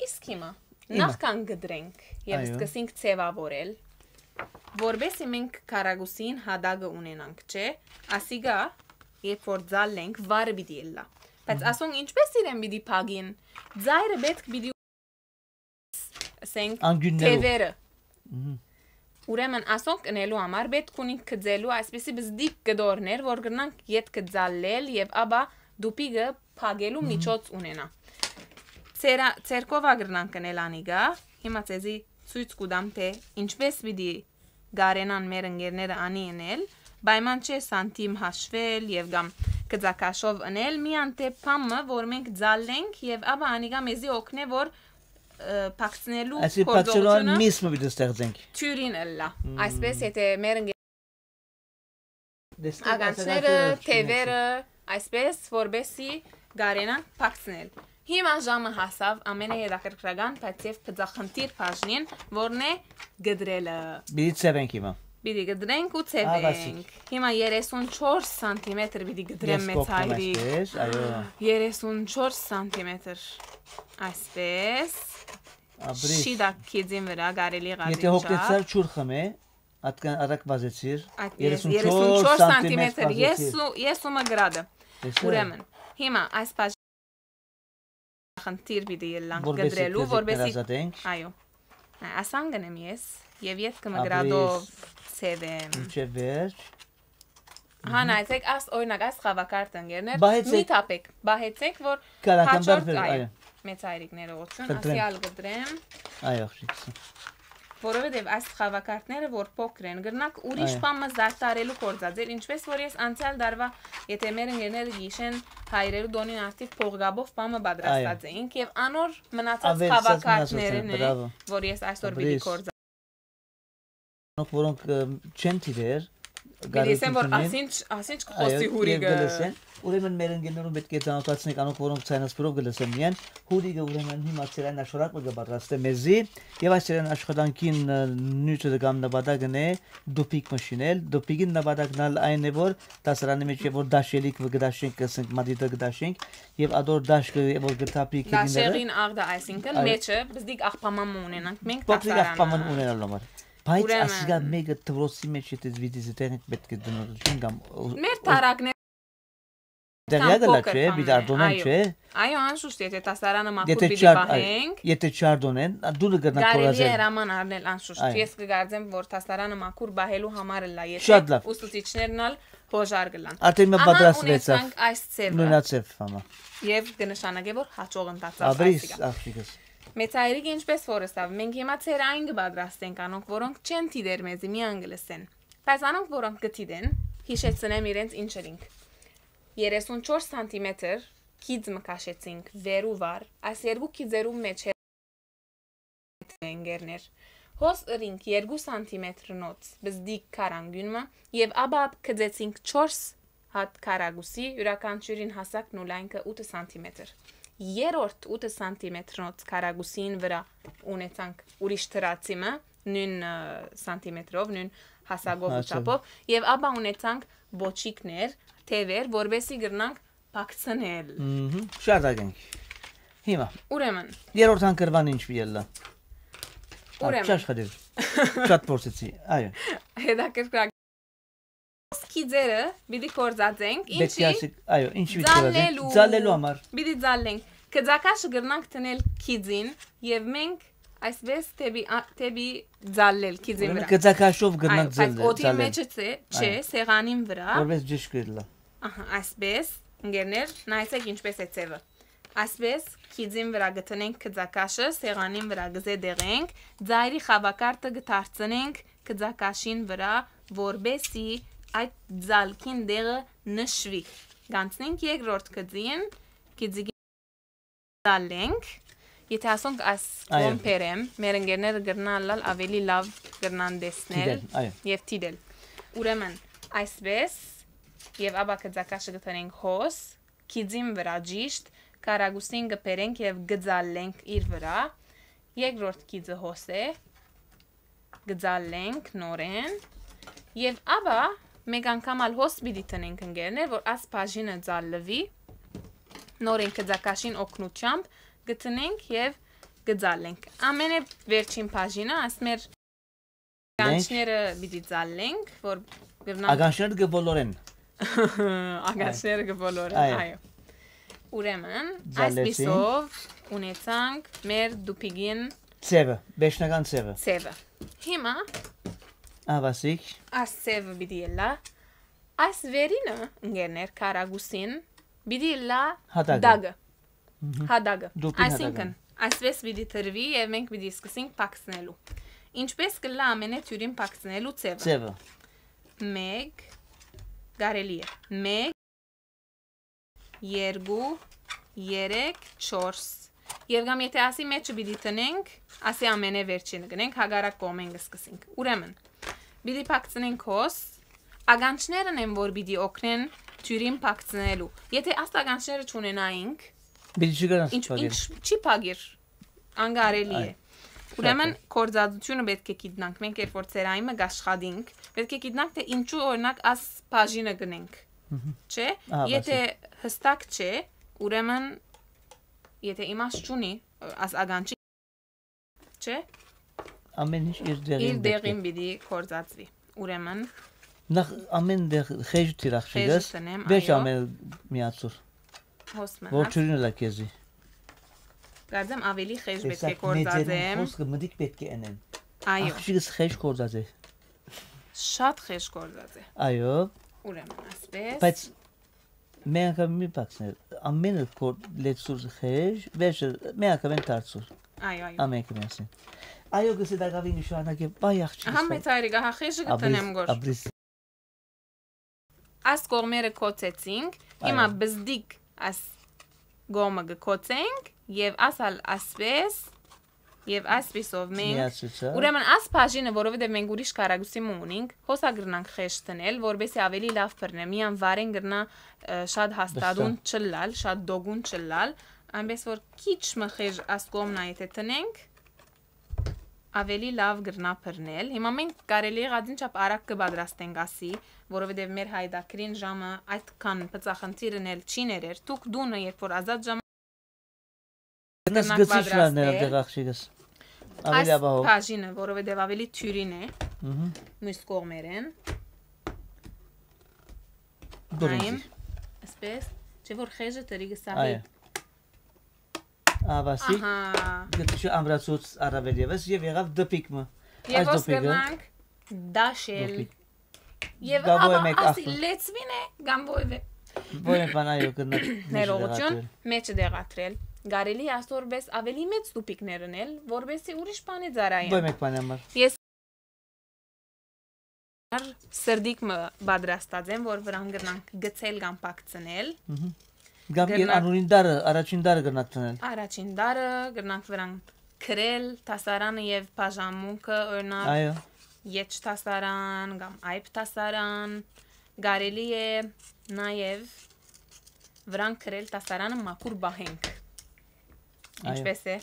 Իսկ հիմա, Հիմա։ նախքան կդրենք եւ Այո։ սկսենք ձեւավորել, որպեսզի մենք քարագուսին հատակը ունենանք, չէ՞, ասիկա, երբ որ ձալենք, վարը պիտի ելլա։ Բայց Մհմ։ ասոնք ինչպես իրեն պիտի փակին, ձայրը պետք պիտի, ասենք, Անգյուններով։ թևերը։ Մհմ։ Ուրեմն ասոնք ընելու համար պետք ունենք գծելու այսպիսի բզդիկ կտորներ, որ կրնանք ետքը ձալել եւ ապա դուպիկը փակելու Մհմ։ միջոց ունենա։ Ցերա-, ցերկովա կրնանք ընել անիկա, հիմա ցեզի ցոյց կու տամ, թե ինչպես պիտի կարենան մեր ընկերները անի ընել, պայման չէ սանտիմ հաշվել եւ կամ գծակաշով ընել, միան թե փամը, որ մենք ձալենք եւ ապա անիկա մեզի օգնե, որ, ը, փակցնելու Այսինքն փակցելու գործողությունը միս մը պիտի ստեղծենք։ թյուրին ըլլա։ Մմ։ Այսպես, եթե մեր ընկեր-, Դες-, ագանցները, ագանցները թևերը, այսպես, որպեսի կարենան փակցնել։ Հիմա ժամը հասավ ամենահետաքրքրական, բայց եւ բծախնդիր բաժնին, որն է կդրելը։ Պիտի ցեւենք հիմա։ Պիտի կդրենք ու Ա, Վասիկ։ ցեւենք։ Հիմա երեսուն չորս սանտիմետր պիտի կդրեմ Ես մեծ կողքն հայրիկ։ այսպես, այո։ երեսուն չորս սանտիմետր, այսպես։ Ապրես։ Շիտակ քիզին վրա կարելի Եթե ղազին հոգնեցար, չար։ չուր խմե, ատկան արագ վազեցիր, Այդ երեսուն չորս երեսուն չորս սանտիմետր սանտիմետր, ես վազեցիր։ ու, ես ու Մգրադը։ Տեսա՞։ Ուրեմն, հիմա այս բաժ-, խնդիր պիտի ելլանք Որպեսզի կդրելու, քեզի որպեսզի, հրազատենք։ այո։ Նայ, ասան գնեմ ես, եւ ետքը Մգրադով Ապրես։ ցեւեմ։ Մինչև վերջ։ Հա, Մհմ։ նայեցեք, աս, օրինակ, այս խաղակարդը ընկերներ, Բահեցեք։ մի թափեք, բահեցեք, որ Կարական հաջորդ, բարբեր, այո, այո։ մեծ հայրիկները օծուն, Խնդրեմ։ ասյալ կդրեմ, Այո, աղջիկս։ որովհետև այս խաղակարդները, որ փոքր են, գրնակ ուրիշ Այո։ բան մը զարդարելու կործած էր, ինչպես որ ես անցյալ դարվա, եթե մեր ընկերները գիշեն հայրերու դոնին արդի փողկապով բան մը պատրաստած Այո։ էինք, և անոր մնացած Ավելցած խաղակարդներն մնացածները, է, բրավո։ որ ես այսօր պիտի Ապրես։ կործա- Անոնք, որոնք, ը, չեն դիտեր, Պիտի ասեմ, որ գարեջուրն է։ Ասինչ, ասինչ կը Այո, խոսի եւ հուրիկը։ Կը լսեն։ Ուրեմն մեր ընկերներուն պէտք է ծանոթացնենք, անոնք որոնք ցայնասպրով կը լսեն միայն, հուրիկը ուրեմն հիմա ցերային աշխարհակ մը կը պատրաստէ մեզի, եւ այս ցերային աշխատանքին, ը, նիւթը կամ նպատակն է դուփիկ մը շինել։ Դուփիկին նպատակն ալ այն է, որ դասարանի մեջ է, որ դաշելիք մը կը դաշենք, կը ասենք, մատիտը կը դաշենք, եւ ադոր դաշկը, որ կը թափի քիդիները։ Դաշեղին աղդը, այսինքն, Այո։ Մեջը բզդիկ աղբաման մը ունենանք մենք Փոքրիկ դասարանը։ Աղբաման ունենալու համար։ Բայց Ուրեմն։ Ասիկա մեկը դպրոցի մեջ եթե վիդի զտեղենք պէտք է դնորոշին կամ Մեր տարակներ Տեղյակ ըլլա, փոքր չէ, պիտի բան է, արտոնեն, այո։ Չէ։ Այո, անշուշտ, եթե դասարանը մաքուր Եթե պիտի չար-, այ, պահենք, եթե չարդոնեն, ա, դուլը կրնա կարելի է քորազել։ Հրաման առնել, անշուշտ։ Այո։ Ես կգարձեմ, որ դասարանը մաքուր պահելու համար ըլլա, եթե Շատ լավ։ Ուսուցիչներն ալ հոժար կլան։ Արդեն մը Ահա պատրաստվեցավ։ Ունեցանք այս ցեւը։ Նույնացեւ, համա։ Եւ կնշանակե, որ հաջող ընթացավ Աբրիս, այսիկա։ Աղջիկս։ Մեծայրիկը ինչպես որ ըսաւ, մենք հիմա ցեր այն կը պատրաստենք անոնք, որոնք չեն դիտեր մեզի, միան կը լսեն։ Բայց անոնք, որոնք կը դիտեն, յիշեցնեմ իրենց ինչ ըրինք։ Երեսուն չորս սանտիմետր գիծ մը քաշեցինք վեր ու վար, այս երկու գիծերու մեջ ընկերներ։ Հոս ըրինք երկու սանտիմետրնոց բզդիկ քարանգուն մը եւ ապա գծեցինք չորս հատ քարակուսի, իւրաքանչիւրին հասակն ու լայնքը ութը սանտիմետր։ Երրորդ ութը սանտիմետրնոց քարակուսին վրա ունեցանք ուրիշ դրացի մը, նոյն, ը, սանտիմետրով, նոյն հասակով ու Հասակ։ Չափով, եւ ապա ունեցանք բոչիկներ, թեւեր, որպեսզի կրնանք փակցնել։ Մհմ, շարունակենք։ Հիմա, Ուրեմն, երրորդ հանգրվան ինչ պիտի ելլա։ Ա, Ուրեմն։ Չաշխատիր։ Շատ փորձեցի, այո։ Հետաքրքրական գիծերը պիտի կործածենք, Պետք է ինչի՞։ Ասեք, այո, ինչ պիտի կործածենք։ Ձալելու։ Ձալելու համար։ Պիտի ձալենք։ Կծակաշը կրնանք դնել գիծին, եւ մենք այսպես թեպի, ա, թեպի ձալել գիծին Ուրեմն վրա։ Կծակաշով կրնանք Այո, բայց ձալ-, օդի ձալել։ Մեջը չէ, չէ, Այո։ Սեղանին վրա։ Որպես ճիշտ կլա։ Ահա, այսպես, ընկերներ, նայեցեք ինչպես է ձևը։ Այսպես, գիծին վրա գտնենք կծակաշը, սեղանին վրա կզետեղենք, ձայրի խաւակարտը կդարձնենք կծակաշին վրա, որպեսզի այդ ձալքին դեղը նշուի։ Գանցնենք երկրորդ գծին, գիծի ձալենք, եթե ասոնք այս Այո։ Կողմ բերեմ, մեր ընկերները կրնան ըլլալ ավելի լավ կրնան տեսնել Դիտել, այո։ Եւ դիտել։ Ուրեմն, այսպես, եւ ապա կծակաշը կդնենք հոս, գիծին վրա ճիշտ, քարակուսին կբերենք եւ կձալենք իր վրա, երկրորդ գիծը հոս է, կձալենք նորեն, եւ ապա մեկ անգամ ալ հոս պիտի տնենք ընկերներ, որ աս բաժինը ձալվի, նորեն կծակաշին օգնությամբ կտնենք եւ կձալենք։ Ամենէ վերջին բաժինը, աս մեր Լենք։ Ականջները պիտի ձալենք, որ կրնանք Ականջները կը բոլորեն։ Ականջները կը բոլորեն, Այո։ Այո։ Ուրեմն, Ձալեցի։ Այսպիսով ունեցանք մեր դուփիկին Ձևը, վերջնական ձևը։ Ձևը։ Հիմա Ահա, Վասիկ։ Այս ձևը պիտի ելլա։ Այս վերինը, ընկերներ, քարակուսին, պիտի ելլա Հատակը։ Դագը։ Մհմ։ Հատակը։ Դուփին Այսինքն, հատակը։ Այսպես պիտի տրվի եւ մենք պիտի սկսենք փակցնելու։ Ինչպես կլա ամենէ թիւրին փակցնելու ձևը։ Ձևը։ Մեկ, կարելի է։ Մեկ, երկու, երեք, չորս։ Եվ կամ եթե ասի մեջը պիտի տնենք, ասի ամենէ վերջինը գնենք, հակառակ կողմէն կսկսենք։ Ուրեմն, պիտի փակցնենք հոս, ականջներն են, որ պիտի օգնեն թիւրին փակցնելու։ Եթե աստ ականջները չունենայինք, Պիտի չկարան ինչ, փակել։ Ինչ չի փակեր, անկարելի է։ Այ, Ուրեմն շատ է։ Գործածությունը պետք է գիտնանք, մենք երբ որ ծերային մը կաշխատինք, պետք է գիտնանք, թե ինչու, օրինակ, աս բաժինը գնենք, Մհմ։ Չէ՞։ Ահա, Եթե բասի։ Հստակ չէ, ուրեմն, եթե իմաստ չունի, աս ականջի, չէ՞։ Ամեն ինչ իր տեղին Իր պետք է։ Տեղին պիտի գործածվի, ուրեմն։ Նախ ամեն տեղ խեժ թիրախ Խեժը չգաս, տնեմ, վերջ այո։ Ամեն միացուր, Հոս մնաց։ Որ չունի լա քեզի։ Կարծեմ ավելի խեժ պետք է Տեսակ մեծերուն գործածեմ։ Խոսքը մտիկ պետք է ընեն։ Այո։ Աղջիկս խեժ գործած է։ Շատ խեժ գործած է։ Այո։ Ուրեմն, ասպես։ Բայց մի անգամ մի փակցներ, ամենը կոր-, լեցուր խեժ, վերջը մի անգամ են դարձուր։ Այո, այո։ Ամենքը միասին։ Այո, գսե դակավի նշանակե, վայ, աղջիկս Ահա վայ։ Մեծ այրիկ, ահա խեժը Աբրիս, կտնեմ գոր։ Աբրիս։ Աս կողմերը կոծեցինք, հիմա Այո։ Բզդիկ աս կողմը կկոծենք և ասալ ասպես Եւ այսպիսով մենք, միացուցա, ուրեմն աս բաժինը, որովհետեւ մենք ուրիշ քառակուսի մը ունինք, հոսա կրնանք խեշ դնել, որպեսզի ավելի լաւ բռնէ, միան վարեն կրնա, ը, շատ հաստատուն չլալ, շատ դոգուն չլալ, այնպես որ քիչ մը խեժ աս կողմնա եթե տնենք, ավելի լաւ կրնա բռնել։ Հիմա մենք կարելի եղած ինչապ արագ կը պատրաստենք ասի, որովհետեւ մեր հայդակրին ժամը այդքան բծախնդիրն էլ չի ներեր։ Դուք դունը, երբ որ ազատ ժամ Գնաս կրնանք գցի չլաներ պատրաստել։ Դեր աղջիկս։ Ավելի այս ապահով։ Բաժինը, որովհետեւ ավելի թյուրին է, մհմ, մյուս կողմերեն։ Դուր նայեմ, ինձի։ Այսպես, չէ՞ որ խեժը տրի կը սահի։ Այո։ Աբասիկ, ահա, գտչի ամրացուց առավել եւս եւ եղավ դպիկ մը։ Այս եւ ո՞ս դպիկը կրնանք դաշել։ Դպիկ։ Եւ գա ո՞յ աբա մէկ ասի ախ-, լեցվին է, կամ ո՞յ է։ Ո՞յ մէկ բան, այո, կրնանք ներողություն, մէջը դեղատրել։ Մէջը դեղատրել։ Կարելի է ասորպես ավելի մեծ դուպիկներ ընել, որպեսզի ուրիշ բանի ծառայեն։ Ո՞յ մէկ բանի համար։ Ես սրդիկ մը պատրաստած եմ, որ վրան կրնանք գցել կամ փակցնել։ Մհմ։ Կամ իր կրնանք անունին դարը, առաջին դարը կրնանք դնել։ Առաջին դարը, կրնանք վրան գրել, դասարանը եւ բաժանմունքը, օրինակ, այո, Եջ դասարան կամ Այբ դասարան, կարելի է նաեւ վրան գրել դասարանը մաքուր պահենք։ Այո։ Ինչպես է։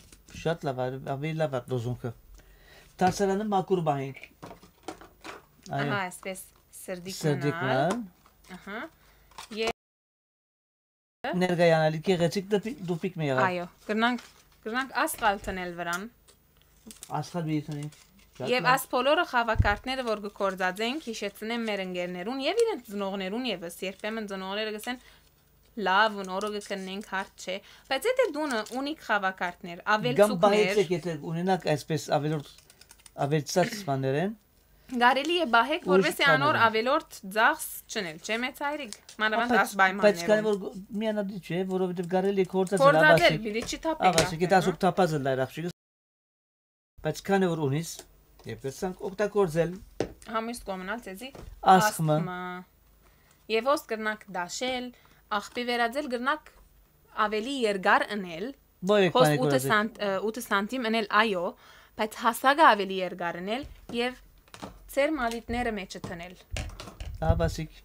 Շատ լաւ, ա-, ավելի լաւ է լոզունգը։ Դասարանը մաքուր պահենք։ Այո։ Ահա, այսպես սրդիկ սրդիկ մնալ։ Մնալ։ Ահա։ Ե- Ներկայանալի գեղեցիկ դպի-, դուպիկ մը եղավ։ Այո, կրնանք, կրնանք աստղալ տնել վրան։ Աստղալ պիտի տնենք։ Շատ լավ։ Եվ աս բոլորը խաղակարդները, որ գործածենք, հիշեցնեմ մեր ընկերներուն եւ իրենց ծնողներուն եւս, երբեմն ծնողները կսեն, «Լաւ, նորը կքննենք, հարց չէ», բայց եթե դունը ունիք խաղակարդներ, կամ ավելցուկներ, պահեցեք, եթե ունենաք այսպես ավելորդ, ավելցած բաներ են, կարելի է պահեք, որպեսզի անոր բաներ են։ Ուրիշ անոր ավելորդ ծախս չնել, չէ՞, մեծ հայրիկ, մանավանդ, բայց, այս պայմաններում։ Բայց քանի որ գ-, միանալի չէ, որովհետև կարելի է գործածել, գործածել, ավասիկ, պիտի չի թափենք, ավասիկ, եթե ասուկ թափած ըլլայր աղջիկս, բայց քանի որ ունիս, եւ կրցանք օգտագործել։ Համույս կոմնալ ցեզի ասխմը։ Ասխմը։ Եվ ո՞ս կրնակ դաշել, աղբի վերածել, կրնակ ավելի երկար ընել, Ո՞յ եք հոս պանիկ ութը ուրացեք։ Սանտ-, ը, ութը սանտիմ ընել, այո, բայց հասակը ավելի երկար ընել եւ ձեր մալիտները մեջը դնել։ Ահա, բասիկ,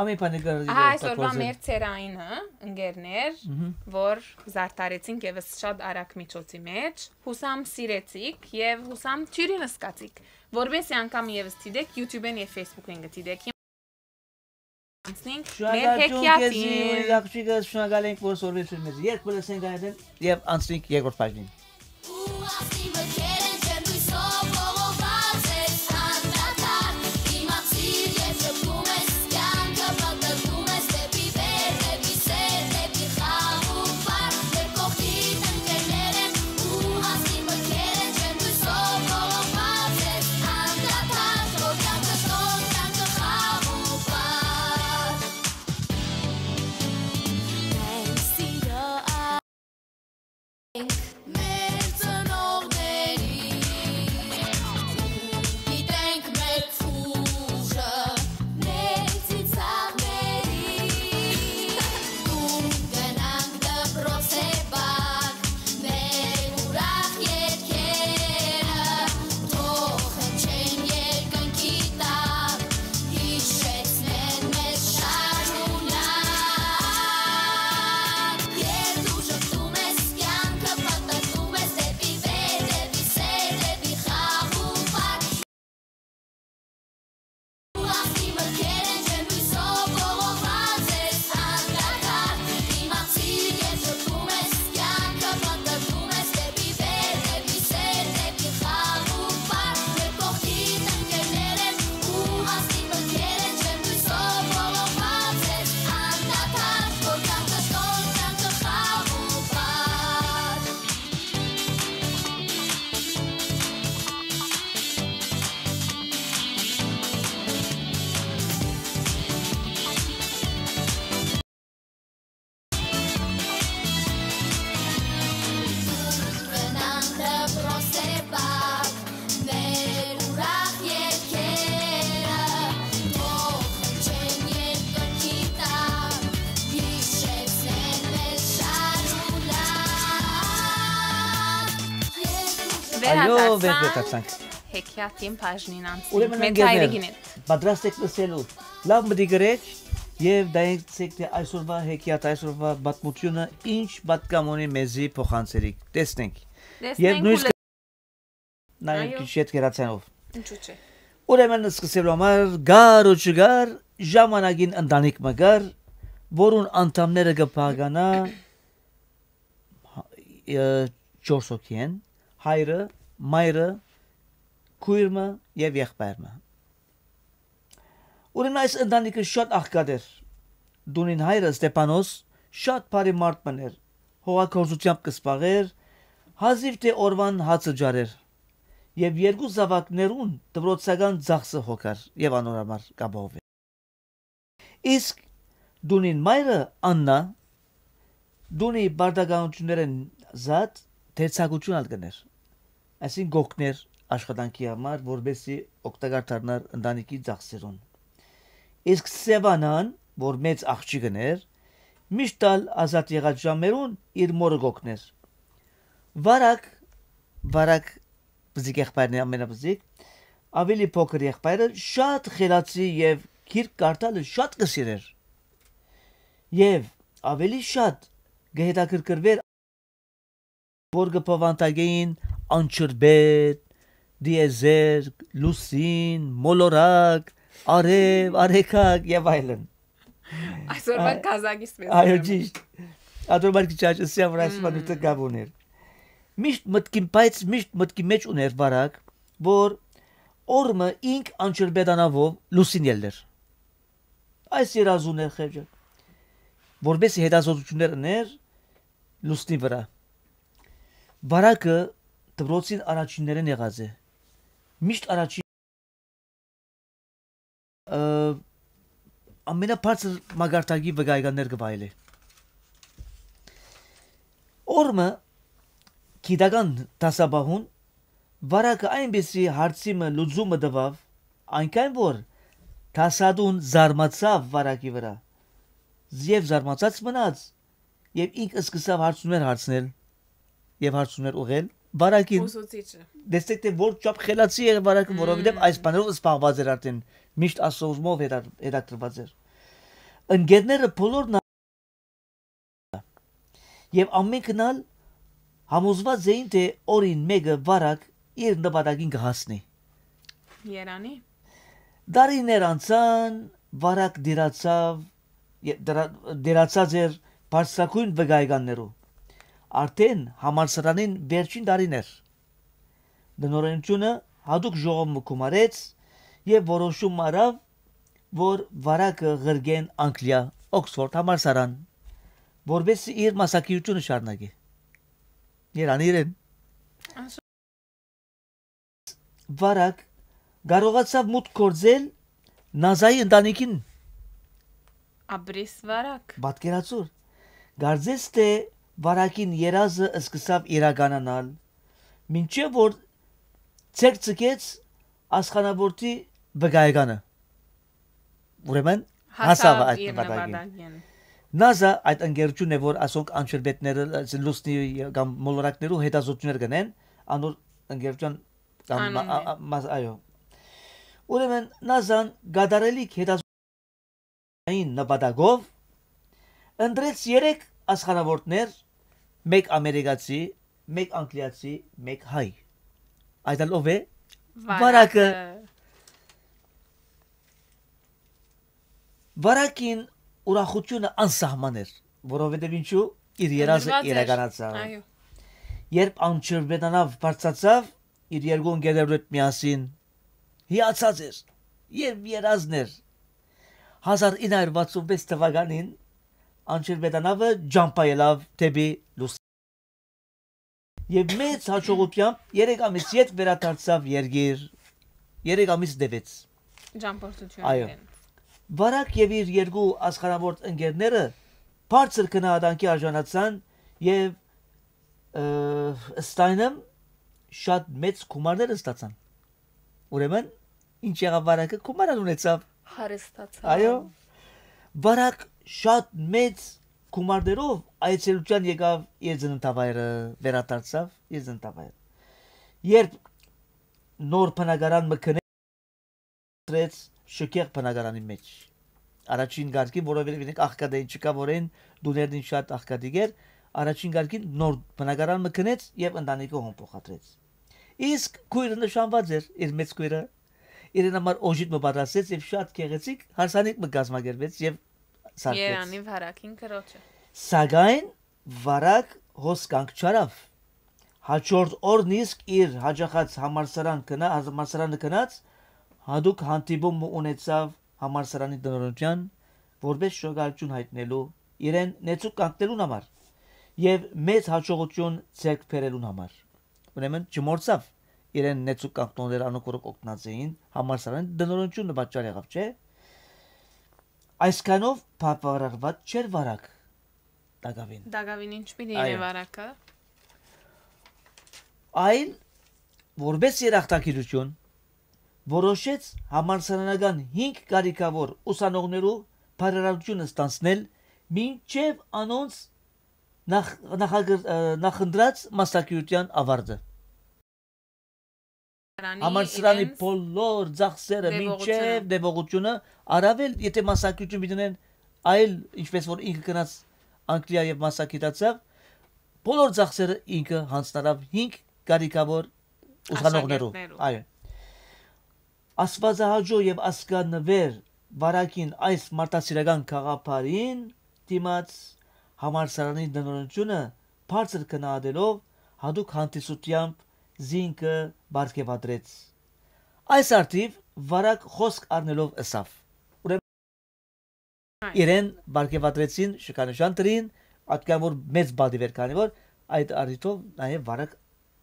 ամի պանիկ ուրացեք։ Ահա այսօրվա օգտագործել։ Մեր ցերայինը, ընկերներ, մհմ, որ զարդարեցինք եւս շատ արագ միջոցի մեջ, հուսամ սիրեցիք եւ հուսամ թյուրին սկացիք, որպեսզի անգամ եւս դիտեք YouTube-ին եւ Facebook-ին կդիտեք։ Անցնենք մեր հեքիաթին։ Շնորհակալություն քեզի, աղջիկս, շնորհակալ ենք, որ սորվեցուր մեզ։ Երբ կը լսենք այդ, եւ անցնենք երկրորդ բաժնին։ Այո, վերադարձանք։ Հեքիաթին բաժնին անցնենք։ Ուրեմն, մեծ ընկերներ, հայրիկին հետ։ Պատրաստ եք լսելու։ Լաւ մտիկ ըրեք եւ դայեցեք, թէ այսօրվա հեքիաթ, այսօրվա պատմութիւնը ինչ պատկան ունի, մեզի փոխանցերիք։ Տեսնենք։ Տեսնենք Եւ նոյնիսկ ու լսենք։ Նայենք Այո։ Քիչ յետ գերացանով։ Ինչու՞ չէ։ Ուրեմն, սկսելու համար գար ու չգար, ժամանակին ընտանիք մը կար, որուն անդամները կը բաղկանայ, ը, չորս հոգի են, հայրը, մայրը, քոյր մը եւ եղբայր մը։ Ուրեմն, այս ընտանիքը շատ աղքատ էր։ Տունին հայրը, Ստեփանոս, շատ բարի մարդ մըն էր, հողագործութեամբ կը զբաղէր, հազիւ թէ օրուան հացը ջարեր եւ երկու զաւակներուն դպրոցական ծախսը հոգար եւ անոր համար կ'ապահովէր։ Իսկ տունին մայրը, Աննա, տունի պարտականութիւններէն զատ դերձակութիւն ալ կ'ընէր, այսինքն՝ կ'օգնէր աշխատանքի համար, որպեսզի օգտակար դառնար ընտանիքի ծախսերուն։ Իսկ Սեւանան, որ մեծ աղջիկն էր, միշտ ալ ազատ եղած ժամերուն իր մօրը կ'օգնէր։ Վարակ, Վարակ, բզիկ եղբայրն է, ամենաբզիկ, ավելի փոքր եղբայրը շատ խելացի եւ գիրք կարդալը շատ կը սիրէր։ Եւ ավելի շատ կը հետաքրքրուէր, որ կը բովանդակէին անչրբետ, տիեզերք, լուսին, մոլորակ, արեւ, արեգակ եւ այլն։ Այսօրվա Ա- կազակից մեզ Այո, ուրեմն։ Ճիշտ։ Ատոր մար քիչ աճ, սիա վրայ սպանութը Մմ։ Գաբ ուներ։ Միշտ մտքին, բայց միշտ մտքի մեջ ուներ Վարակ, որ օրը ինք անչրբետ անավով լուսին ելներ։ Այս երազուն էր խեղճը, որպեսզի հետազոտություններ ըներ լուսնի վրա։ Վարակը դպրոցին առաջիններէն եղած է։ Միշտ առաջին, ը, ամենաբարձր մակարդակի վկայականներ կը վայելէ։ Օրը գիտական դասապահուն Վարակը այնպիսի հարցի մը լուծումը տուաւ, այնքան որ դասատուն զարմացաւ Վարակի վրա, եւ զարմացած մնաց, եւ ինք սկսաւ հարցումներ հարցնել եւ հարցումներ ուղղել Վարակին։ Ուսուցիչը։ Տեսեք, թէ որ չափ խելացի էր Վարակը, որովհետեւ Մմ։ այս բաներով զբաղված էր արդեն, միշտ ասովմով հետա-, հետաքրքրված էր։ Ընկերները բոլորն ա-, եւ ամենքն ալ համոզված էին, թէ օրին մէկը Վարակ իր նպատակին կը հասնի։ Երանի։ Տարիներ անցան, Վարակ դիրացաւ, ե-, դրա-, դիրացած էր բարձրագոյն վկայականներու։ Արդեն համալսարանին վերջին տարին էր։ Տնօրէնութիւնը յատուկ ժողով մը գումարեց եւ որոշում մը առաւ, որ Վարակը ղրկեն Անգլիա, Օքսֆորդ համալսարան, որպեսզի իր մասնագիտութիւնը շարունակի։ Երանի իրեն։ Անշ- Վարակ կարողացաւ մուտք գործել Նազայի ընտանիքին։ Աբրիս Վարակ։ Պատկերացուր, կարծես թէ Վարակին երազը սկսաւ իրականանալ, մինչեւ որ ձեռք ձգեց Ասխանավորտի վկայականը։ Ուրեմն, հասաւ Հասաւ այդ իր նպատակին։ նպատակին։ Նազա այդ ընկերութիւնն է, որ ասոնք անչրբետները, լուսնի կամ մոլորակներու հետազոտություններ կ'ընեն, անոր ընկերութեան կամ Անունն մա-, է։ ա-, ա-, մաս-, այո։ Ուրեմն, Նազան կատարելիք հետազոտային նպատակով ընտրեց երեք Ասխանավորտներ, մէկ ամերիկացի, մէկ անգլիացի, մէկ հայ։ Այդ ալ ով է։ Վարակը։ Վարակը։ Վարակին ուրախութիւնը անսահման էր, որովհետեւ ինչու՝ իր երազը Նվիրված էր։ իրականացաւ։ Այո։ Երբ անչրբետանաւ բարձրացաւ իր երկու ընկերներու հետ միասին, հիացած էր եւ երազն էր։ Հազար ինը հարյուր վաթսուն վեց թվականին անչրբետանավը ճամփայելաւ դէպի լուսնի։ Եւ մեծ հաջողութեամբ երեք ամիս յետ վերադարձաւ երկիր, երեք ամիս տեւեց։ Ճամփորդություն Այո։ իրեն։ Վարակ եւ իր երկու Ասխանավորտ ընկերները բարձր գնահատանքի արժանացան եւ, ը, ստայնը շատ մեծ գումարներ ստացան։ Ուրեմն, ինչ եղաւ Վարակը, գումար ալ ունեցաւ։ Հարստացաւ։ Այո։ Վարակ շատ մեծ գումարներով այցելութեան եկաւ իր ծննդավայրը, վերադարձաւ իր ծննդավայրը։ Երբ նոր բնակարան մը գնեց, շքեղ բնակարանի մեջ, առաջին կարգին, որովհետեւ իրենք աղքատ էին, չկա որ այն տուներն ինչ շատ աղքատիկ էր, առաջին կարգին նոր բնակարան մը գնեց եւ ընտանիքը հոն փոխադրեց։ Իսկ քոյրը նշանված էր, իր մեծ քոյրը, իրեն համար օժիտ մը պատրաստեց եւ շատ գեղեցիկ հարսանիք մը կազմակերպեց եւ սարքեց։ Երանի վարակին կրոջը։ Սակայն վարակ հոս կանգ չարավ։ Հաջորդ օրն իսկ իր հաճախած համալսարան գնա-, համալսարանը գնաց, հատուկ հանդիպում մը ունեցավ համալսարանի տնօրինութեան, որպէս շնորհակալութիւն յայտնելու իրեն նեցուկ կանգնելուն համար եւ մեծ հաջողութիւն ձեռք բերելուն համար։ Ուրեմն չմոռցաւ իրեն նեցուկ կանգնողները, անոնք որոնք օգնած էին համալսարանի տնօրինութիւնը պատճառ եղաւ, չէ՞։ Այսքանով բավարարված չէր վարակ տակաւին։ Տակաւին ինչ պիտի Այո։ Իրեն վարակը։ Այլ, որպէս երախտագիտութիւն, որոշեց համալսարանական հինգ կարիքաւոր ուսանողներու բարերարութիւնը ստանցնել մինչեւ անոնց նախ-, նախագր-, ը, նախընտրած մասնակցության ավարտը։ Համալսարանի իրենց բոլոր ծախսերը մինչեւ դեպողությունը։ Դեպողությունը, առավել եթե մասնակցություն պիտի ունեն այլ, ինչպես որ ինքը գնաց Անգլիա եւ մասնակցացաւ, բոլոր ծախսերը ինքը յանձնարաւ հինգ կարիքաւոր ուսանողներու։ Աշակերտներու։ Այո։ Աստուածահաճոյ եւ ազգանուեր վարակին այս մարդասիրական գաղափարին դիմաց համալսարանի տնօրինութիւնը բարձր գնահատելով հատուկ հանդիսությամբ զինքը պարգեւատրեց։ Այս առթիւ վարակ խօսք առնելով ըսաւ։ Ուրեմն Այո։ իրեն պարգեւատրեցին, շքանշան դրին, ատկան որ մեծ պատիւ էր, քանի որ այդ առիթով նաեւ վարակ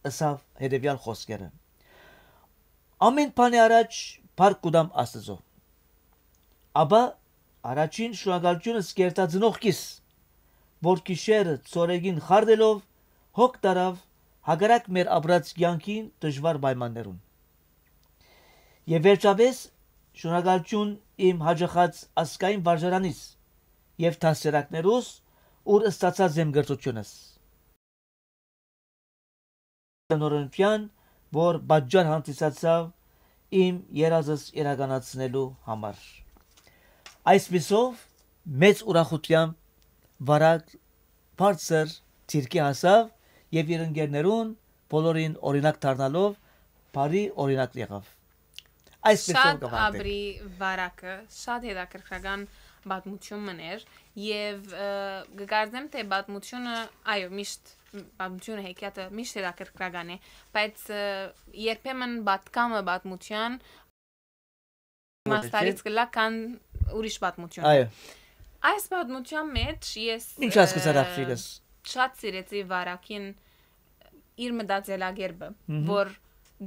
ըսաւ հետեւեալ խօսքերը. «Ամէն բանի առաջ փառք կու տամ Աստուծոյ։ Ապա առաջին շնորհակալութիւնս կ'երթայ ծնողքիս, որ գիշերը ցորեկին խարդելով հոգ տարաւ հակառակ մեր ապրած կեանքին դժուար պայմաններուն։ Եւ վերջապէս շնորհակալութիւն իմ յաճախած ազգային վարժարանիս եւ դաստիարակներուս, ուր ստացած եմ կրթութիւնս։ Տնօրինութեան, որ պատճառ հանդիսացաւ իմ երազս իրականացնելու համար»։ Այսպիսով, մեծ ուրախութեամբ վարակ բարձր դիրքի հասաւ եւ իր ընկերներուն բոլորին օրինակ դառնալով բարի օրինակ եղաւ։ Այսպիսով Շատ կվարտենք։ Աբրի վարակը, շատ հետաքրքրական պատմություն մըն էր եւ, ը, կկարծեմ, թե պատմությունը, այո, միշտ պատմությունը, հեքիաթը միշտ հետաքրքրական է, բայց, ը, երբեմն պատկամը պատմության Որովհետև մաստարից կլա կան ուրիշ պատմություն։ Այո։ Այս պատմության մեջ ես, Ինչ հասկացար, ը, աղջիկս։ շատ սիրեցի վարակին իր մտածելակերպը, Մհմ։ որ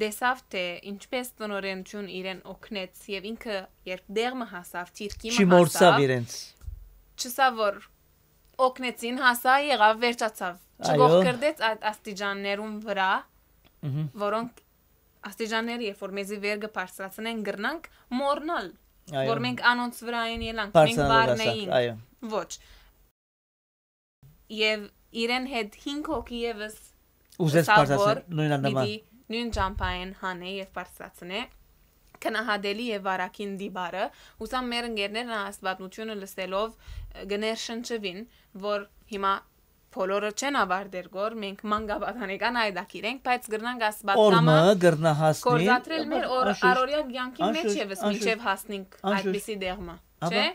տեսավ, թե ինչպես տնօրենություն իրեն օգնեց, եւ ինքը երբ դեղ մը հասավ, դիրքի մը Չի մոռցավ հասավ, իրենց։ չսա որ օգնեցին, հասա, եղավ, վերջացավ։ Այո։ Չգողքրդեց այդ աստիճաններուն վրա, Մհմ։ որոնք աստիճանները, երբ որ մեզի վեր կը բարձրացնեն, կրնանք մոռնալ, Այո։ որ մենք անոնց վրայ են ելանք, մենք Բարձրանալու վարն ասա, էինք։ Այո։ Ոչ։ Եվ իրեն հետ հինգ հոգի ևս Ուզեց սա բարձրացնել, որ նույն աննամա։ պիտի նույն ճամփայեն հանե եւ բարձրացնե, քնահատելի է վարակին դիպարը, ուսամ մեր ընկերներն այս պատմությունը լսելով, ը, կներշնչվին, որ հիմա բոլորը չեն ավարտեր գոր, մենք մանկապատանեկան այդակիր ենք, բայց կրնանք այս Օրը պատկամը կրնա հասնի։ գործադրել մեր օր-, Անշուշտ, առօրյա կյանքի մեջ անշուշտ, ևս անշուշտ, մինչև հասնենք անշուշտ։ այդպիսի դեղմը, Ահա, չէ՞։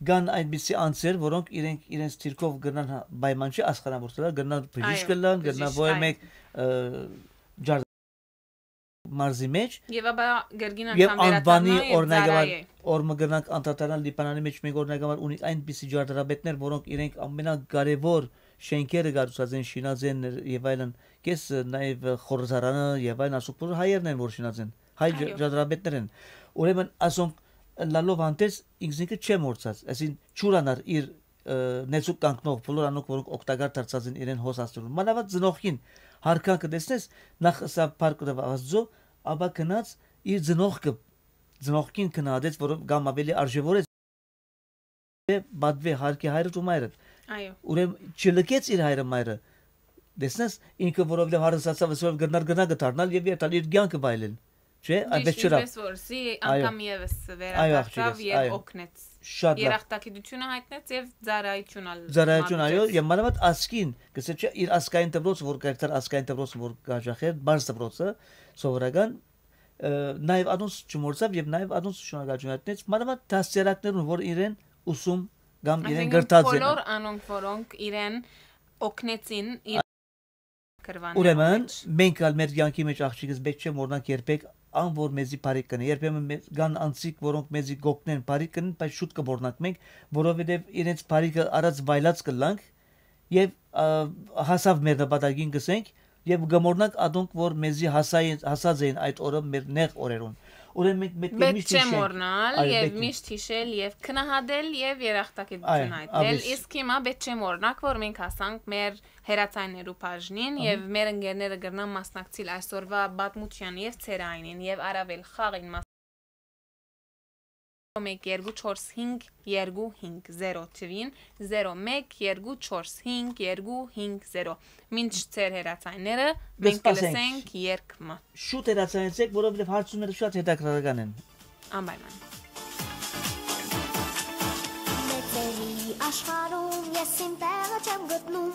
կան այդպիսի անձեր, որոնք իրենք իրենց դիրքով կրնան հա-, պայման չի, աստղանավորել, կրնան բժիշկ Այո, կլան, կրնան բժիշկ, ոյ այո։ մեկ, ը, ջար-, մարզի մեջ, Եվ ապա կրկին եւ անգամ անվանի վերադառնա եւ օրինակ ծառայ է։ Օրը կրնանք անդրադառնալ Լիբանանի մեջ, մենք օրինակ համար ունենք այնպիսի ջարդարապետներ, որոնք իրենք ամենակարևոր շենքերը կառուցած են, շինած են եւ այլն, կես, ը, նաեւ խորհրդարանը եւ այլն, ասոնք բոլոր հայերն են, որ շինած են, հայ ջ-, Այո։ ջարդարապետներ են։ Ուրեմն ասոնք լալով հանդերձ ինքզինքը չեմ մոռցած, այսինքն չուրանար իր, ը, նեցուկ կանգնող բոլոր անոնք, որոնք օգտակար դարձած են իրեն հոս հասնելու։ Մանավանդ ծնողքին հարկան կը տեսնես, նախ ըսա փառք տվա Աստծո, ապա գնաց իր ծնողքը, ծնողքին գնահատեց, որ կամ ավելի արժեվորեց, պատվե հարկի հայրդ ու մայրդ։ Այո։ Ուրեմն չլքեց իր հայրը մայրը, Տեսնես, ինքը որովհետեւ հարստացաւ, ասելով կրնար, կրնար կը դառնալ եւ երթալ իր կյանքը վայելել։ Չէ՞, այ Միշտ, բայց չըրաւ։ ինչպես որ սի Այո։ անգամ եւս Այո, աղջիկս, վերադարձավ եւ այո։ օգնեց։ Շատ լավ։ Երախտագիտությունը հայտնեց եւ ծառայություն ալ Ծառայություն, այո, մատուցեց։ Եւ մանավանդ ազգին, կսե չէ, իր ազգային դպրոցը, որ կերտար ազգային դպրոցը, որ կ'աջախեր, բարձ դպրոցը, սովորական, ը, նաեւ անոնց չմոռցաւ եւ նաեւ անոնց շնորհակալություն հայտնեց, մանավանդ դաստիարակներուն, որ իրեն ուսում կամ իրեն Այսինքն՝ գրտած են։ բոլոր անոնք, որոնք իրեն օգնեցին իր գրվաններուն Ուրեմն, մեջ։ մենք ալ մեր կյանքի մեջ, աղջիկս, պէտք չէ մոռնանք երբեք ան, որ մեզի բարիք կ'ընէ։ Երբեմն մե-, կան անձիկ, որոնք մեզի կ'օգնեն, բարիք կ'ընեն, բայց շուտ կը մոռնանք մենք, որովհետեւ իրենց բարիքը առած վայելած կ'ըլլանք եւ, ա, հասաւ մեր նպատակին, կ'ըսենք, եւ կը մոռնանք ադոնք, որ մեզի հասային, հասած էին այդ օրը մեր նեղ օրերուն։ Ուրեմն մենք մէ-, մենք Պէտք միշտ չէ հիշենք, մոռնալ այո, եւ պէտք է։ միշտ հիշել եւ գնահատել եւ երախտագիտություն Այո, հայտնել։ Աբիս։ Իսկ հիմա պէտք չէ մոռնանք, որ մենք հասանք մեր հեռացայիններու բաժնին Ահա։ Եւ մեր ընկերները կրնան մասնակցիլ այսօրվա պատմության եւ ցերայինին եւ առավել խաղին մաս-, մեկ երկու չորս հինգ երկու հինգ զերո թուին, զերո մեկ երկու չորս հինգ երկու հինգ զերո։ Մինչ ձեր հեռացայինները, մենք կը Կսպասենք։ Լսենք երգ մը։ Շուտ հեռացայեցեք, որովհետեւ հարցումները շատ հետաքրքրական են։ Անպայման։ Մեծերի աշխարհում ես իմ տեղը չեմ գտնում,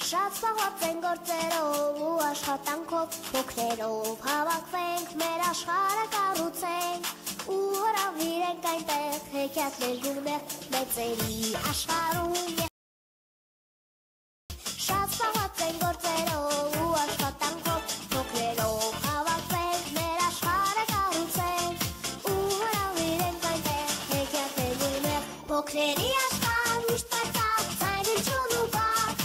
շատ զբաղված են գործերով ու աշխատանքով, փոքրերով հավաքվենք, մեր աշխարհը կառուցենք ու հրավիրենք այնտեղ հեքիաթներ գունեղ։ Մեծերի աշխարհում ես շատ զբաղված են գործերով ու աշխատանքով, փոքրերով հավաքվենք, մեր աշխարհը կառուցենք ու հրավիրենք այնտեղ հեքիաթներ գունեղ։ Փոքրերի աշխարհ միշտ պայծառ, ցայտուն ու բաց,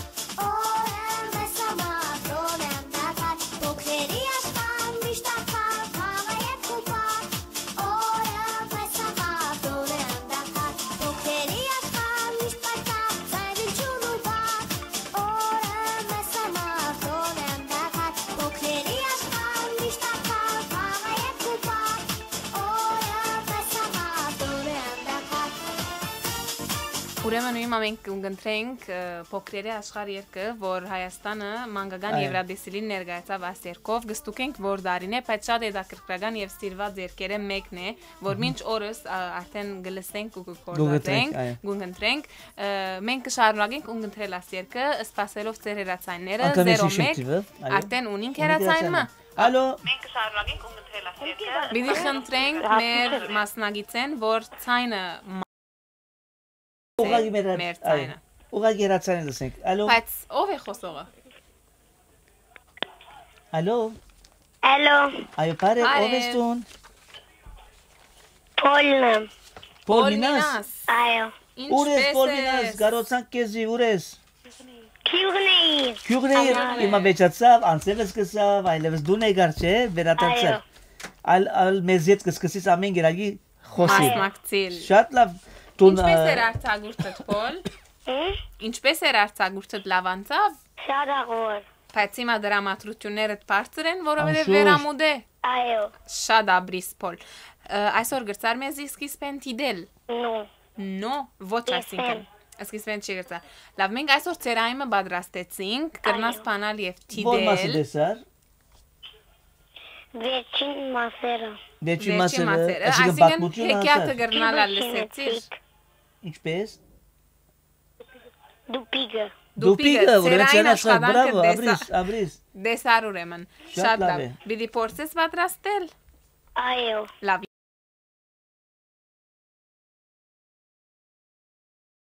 օրը մեզ համար տոնե անդադար։ Փոքրերի աշխարհ միշտ արդար, խաղայ ու պար, օրը մեզ համար տոնե անդադար։ Փոքրերի աշխարհ միշտ պայծառ, ցայտուն ու բաց, օրը մեզ համար տոնե անդադար։ Փոքրերի աշխարհ միշտ արդար, խաղայ ու պար, օրը մեզ համար տոնե անդադար։ Ուրեմն հիմա մենք կընտրենք, ը, Փոքրերի աշխարհ երգը, որ Հայաստանը մանկական Այո։ Եվրատեսիլին ներկայացաւ այս երգով։ Կստուգենք, որ դարին է, բայց շատ հետաքրքրական եւ սիրված երգերը մեկն է, որ Մհմ։ մինչ օրս, ա, արդեն կը լսենք ու կը Կու գտենք, գործածենք, այո։ կու ընտրենք։ Ը, մենք կշարունակենք ու ընտրել այս երգը, սպասելով ձեր հեռացայինները, Անգամ ես հիշեմ զերո մեկ, թիվը, այո։ արդեն ունինք Ունինք հեռացայինը։ հեռացայինը։ Ալո, Մենք կշարունակենք ու ընտրել այս երգը։ Պիտի խնդրենք մեր մասնագիցեն, որ ցայնը մա-, ուղղակի մեր, մեր այո, ցայնը։ Ուղղակի հեռացայինը լսենք։ Ալո, Բայց ո՞վ է խոսողը։ Ալո, Ալո, այո, բարև, ով ես Բարև։ դուն։ Փոլն եմ։ Փոլ Փոլ Մինաս։ Մինաս։ Այո։ Ինչպե՞ս ես, Փոլ Մինաս, ես։ Կարոցանք քեզի, ուր ես։ Քիուղնեի։ Քիուղնեի Ահա։ Հիմա վեճացավ, անցեւս սկսավ, այլևս դուն եկար, չէ՞, վերադարձար։ Այո։ Ալ, ալ մեզ հետ կսկսես ամեն գերագի խոսի։ Մասնակցիլ։ Շատ լավ, դուն, Ինչպե՞ս ը, էր արձակուրդդ, Փոլ։ Հմ? Ինչպե՞ս էր արձակուրդդ, լավ անցավ։ Շատ աղոր։ Բայց հիմա դրամատրություններդ բարձր են, որովհետև Անշուշտ։ Վերամուտ է։ Այո։ Շատ աբրիս, Փոլ։ Ը, այսօր գրծար մեզի սկիզբեն դիտել։ Նո։ Նո, ոչ, Ես այսինքն։ Եմ։ Սկիզբեն չի գրծար։ Լավ, մենք այսօր ցերայինը պատրաստեցինք, կրնաս Այո։ Բանալ և Որ մասը դիտել։ Տեսար։ Վերջին մասերը։ Վերջին Վերջին մասերը, մասերը, այսինքն այսինքն պատմությունը հեքիաթը հասար։ Գռնալ ալ Դուպիկը լսեցիր։ Ինչպես։ Դուպիկը, Դուպիկը, ուրեմն ցերային ցերասար, աշխատանքը բրավո, տեսա-, աբրիս, աբրիս։ Տեսար ուրեմն։ Շատ Շատ լավ լավ է։ Պիտի փորձես պատրաստել։ Այո։ Լավ։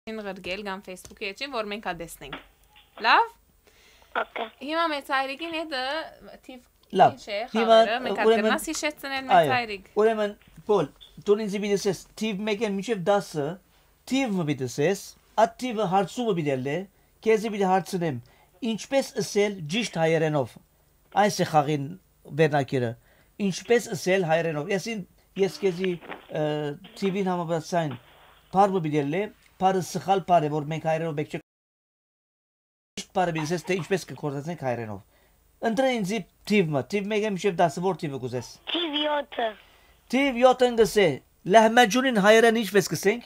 Ին ղրկել կամ Facebook-ի էջին, որ մենք ա տեսնենք։ Լավ։ Okay։ Հիմա մեծ հայրիկին հետ, ը, թիվ Լավ։ Ինչ է, Հիմա, խաղերը, մենք ուրեմն, ակնաս հիշեցնեն, մեծ այո, հայրիկ։ Ուրեմն, Փոլ, դուն ինձ պիտի ասես, թիվ մեկեն մինչև դասը, թիվ մը պիտի ասես, այդ թիվը հարցումը պիտի ելլե, քեզի պիտի հարցնեմ, ինչպես ասել ճիշտ հայերենով, այս է խաղին վերնակիրը, ինչպես ասել հայերենով, ես ին-, ես քեզի, ը, թիվին համապատասխան բառ մը պիտի ելլե, բառը սխալ բառ է, որ մենք հայերենով մենք չենք Միշտ պարը պիտի ասես, թէ ինչպես կը գործածենք հայերէնով։ Ընտրէ ինձի թիւ մը, թիվ մէկէ մինչեւ տասը, որ թիվը կ'ուզես։ Թիվ յոթը։ Թիվ յոթը կ'ըսէ, լահմաջունին հայերէն ինչպես կ'ըսենք։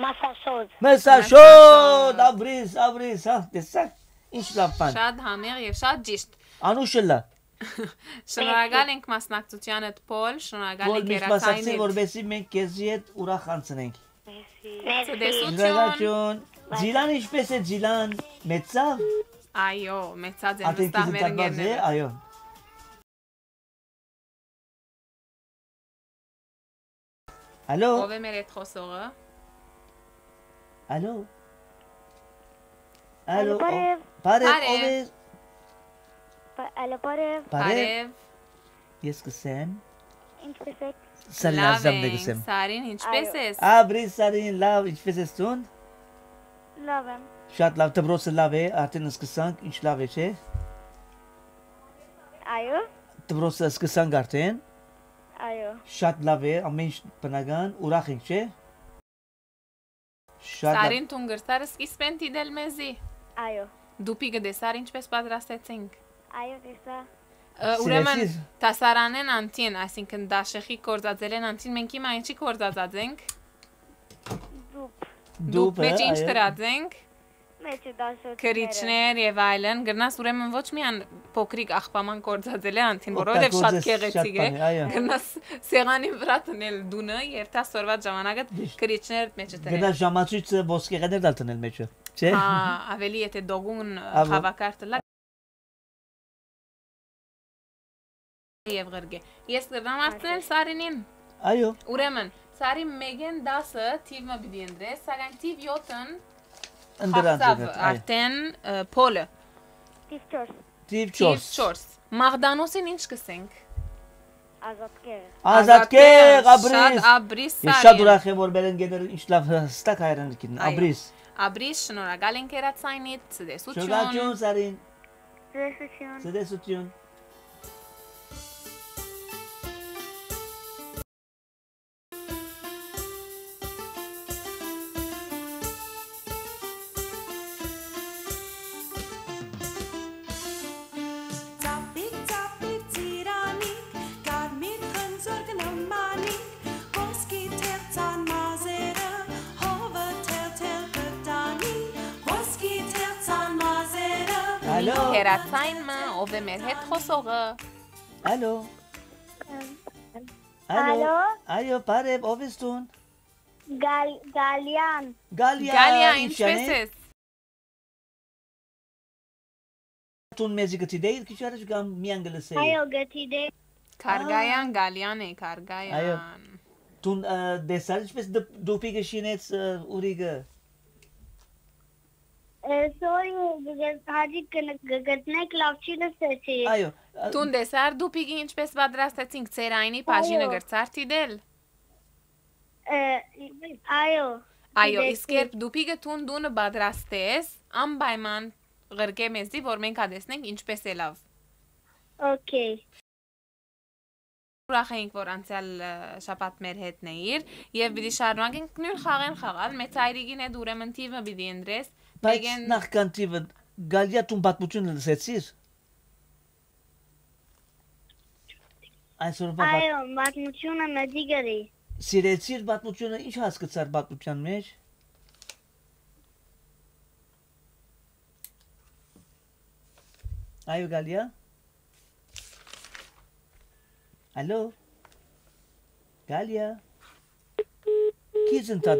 Մասաշոտ։ Մսաշոտ, Մսաշոտ։ Աբրիս, աբրիս, հա, տեսա՞ք։ Ինչ լաւ բան։ Շատ համեղ եւ շատ ճիշտ։ Անուշ ըլլայ։ Շնորհակալ ենք մասնակցությանդ, Փոլ, շնորհակալ Փոլ, ենք միշտ մասնակցի, հեռացայինդ։ Որպեսզի մենք քեզի հետ ուրախ անցնենք։ Մերսի։ Մերսի։ Ցտեսություն։ Շնորհակալություն։ Զիլան, ինչպե՞ս է, Զիլան, մեծա՞վ։ Այո, մեծած է, Ատեն նստա քեզ մեր ընթացած է, ընկերները։ Այո։ Ալո։ Ո՞վ է մեր հետ խոսողը։ Ալո։ Ալո, Ալո, բարև։ Ո-, բարև, Բարև։ Ո՞վ է։ Պա-, ալո, բարև։ Բարև։ Բարև։ Ես կսեմ։ Ինչպե՞ս եք։ Սարին Լավ Ազդամն է ենք, կսեմ։ Սարին, ինչպե՞ս Այո։ ես։ Աբրի Սարին, լաւ, ինչպե՞ս ես դուն։ Լաւ եմ։ Շատ լաւ, դպրոցը լաւ է, արդեն սկսանք, ինչ լաւ է, չէ՞։ Այո։ Դպրոցը սկսանք արդեն։ Այո։ Շատ լաւ է, ամեն ինչ բնական, ուրախ ենք, չէ՞։ Շատ լաւ։ Սարին, դուն կրցար սկիզբէն դիտել մեզի։ Այո։ Դուփի կը տեսար ինչպէս պատրաստեցինք։ Այո, տեսա։ Ը, ուրեմն, Սիրեցի՞ր։ Դասարանեն անդին, այսինքն՝ դաշեխի գործածելեն անդին, մենք հիմա ինչի գործածած ենք։ Դուփ։ Դուփ, Դուփը, մեջ ինչ այո։ դրած ենք։ Մեջը դաշոյթները։ Քրիչներ եւ այլն, գրնաս ուրեմն ոչ միայն փոքրիկ աղբաման գործածել է անդին, որովհետեւ շատ Օգտագործես գեղեցիկ շատ է։ Բան է, այո։ Գրնաս սեղանին վրա տնել դունը եւ տաս օրվա ժամանակը Ճիշտ։ Քրիչներ մեջը տնել։ Գնաս ժամացույցը ոսկեղեներ դալ տնել մեջը, չէ՞։ Հա, ավելի եթե դոգուն Աբո։ Խավակար տլա եւ ղրկե։ Ես կրնամ Այո։ Հարցնել Սարինին։ Այո։ Ուրեմն, Սարին, մեկեն տասը թիվ մը պիտի ընտրես, սակայն թիվ յոթն Ընտրած խախտաւ եք, այո։ Արդեն, ը, Փոլը։ Թիվ չորս։ Թիվ Թիվ չորս։ չորս։ Մաղդանոսին ինչ կսենք։ Ազատկեր։ Ազատկեր, Ազատկեր, Աբրիս։ Շատ Աբրիս Ես շատ Սարին։ Ուրախ եմ, որ մեր ընկերները ինչ լավ հստակ հայերեն գիտեն։ Այո։ Աբրիս։ Աբրիս, շնորհակալ ենք հեռացայինիդ, ցտեսություն։ Շնորհակալություն, Սարին։ Ցտեսություն։ Ցտեսություն։ Ծապիկ, ծապիկ, ծիրանիկ, կարմիր խնձոր կը նմանինք, ոսկի թերցան մազերը, հովը թել-թել կը տանի, ոսկի թերցան մազերը։ Ալո։ Հեռացայինը, ով է մեր հետ խոսողը։ Ալո։ Ալո։ Ալո։ Այո, բարև, ով ես դուն։ Գալ-, Գալյան։ Գալիա, Գալիա, ինչ ինչպե՞ս անես։ Ես։ Դուն մեզի կդիտեիր քիչ առաջ կամ միայն կլսեիր։ Այո, կդիտեի։ Քարգայան, Ա։ Գալիան է, Քարգայան։ Այո։ Դուն, ը, տեսա՞ր ինչպես դ-, դուփի կը շինեց, ը, ուրիկը։ Ը, sorry, գ-, գ-, հաճիկ կն-, գ-, գտնեք, լաւ չի լսեցի։ Այո, ը, Դուն տեսա՞ր դուփիկը ինչպես պատրաստեցինք, ծերայինի բաժինը Այո։ Գրցար դիտել։ Ը, այո, Այո, դիտեցի։ Իսկ երբ դուփիկը դուն դունը պատրաստես, անպայման ղրկե մեզի, որ մենք ա տեսնենք ինչպես է լավ։ Okay։ Ուրախ էինք, որ անցյալ, ը, շաբաթ մեր հետն էիր, եւ պիտի շարունակենք նույն խաղեն խաղալ, մեծ այրիկին հետ ուրեմն թիվը պիտի ընտրես, Բայց մեկեն նախքան թիվը, Գալիա, դուն պատմությունը լսեցիր։ Այսօրվա պատ- Այո, պատմությունը մեզի գրի։ Սիրեցիր պատմությունը, ինչ հասկացար պատմության մեջ։ Այո, Գալիա։ Ալո։ Գալիա։ Քիզ ընդհատ-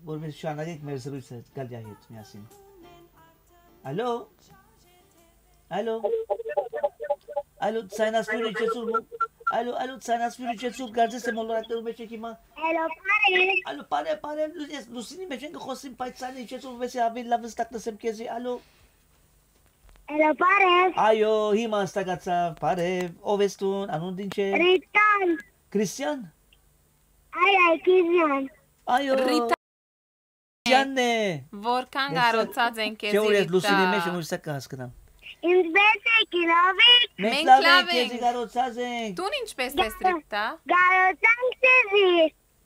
Որպես շարունակենք մեր զրույցը Գալիայի հետ միասին։ Ալո։ Ալո։ Ալո, ցայնասպիրը իջեցուր մո-, ալո, ալո, ցայնասպիրը իջեցուր, կարծես թե մոլորակներու մեջ եք հիմա։ Ալո, բարև։ Ալո, բարև, բարև, լու-, ես լուսինի մեջ ենք խոսում, բայց ցայնը իջեցուր, որպեսզի ավելի լավ հստակ լսեմ քեզի, ալո։ Ալո, բարև։ Այո, հիմա հստակացավ, բարև, ով ես դուն, անունդ ինչ է։ Ռիտան։ Քրիստիան։ Այ, այ, Քրիստիան։ Այո։ Ռիտա Ջանն է։ Որքան Դեսա- կարոցած են քեզի, Չէ, որ ես լուսինի Ռիտա։ Մեջ եմ, ուրիշ կը հասկնամ։ Ինչպե՞ս եք, լավ եք։ Մենք Մենք լավ լավ ենք, քեզի ենք։ Կարոցած ենք։ Դուն ինչպե՞ս ես, Ռիտա։ Կարոցանք քեզի։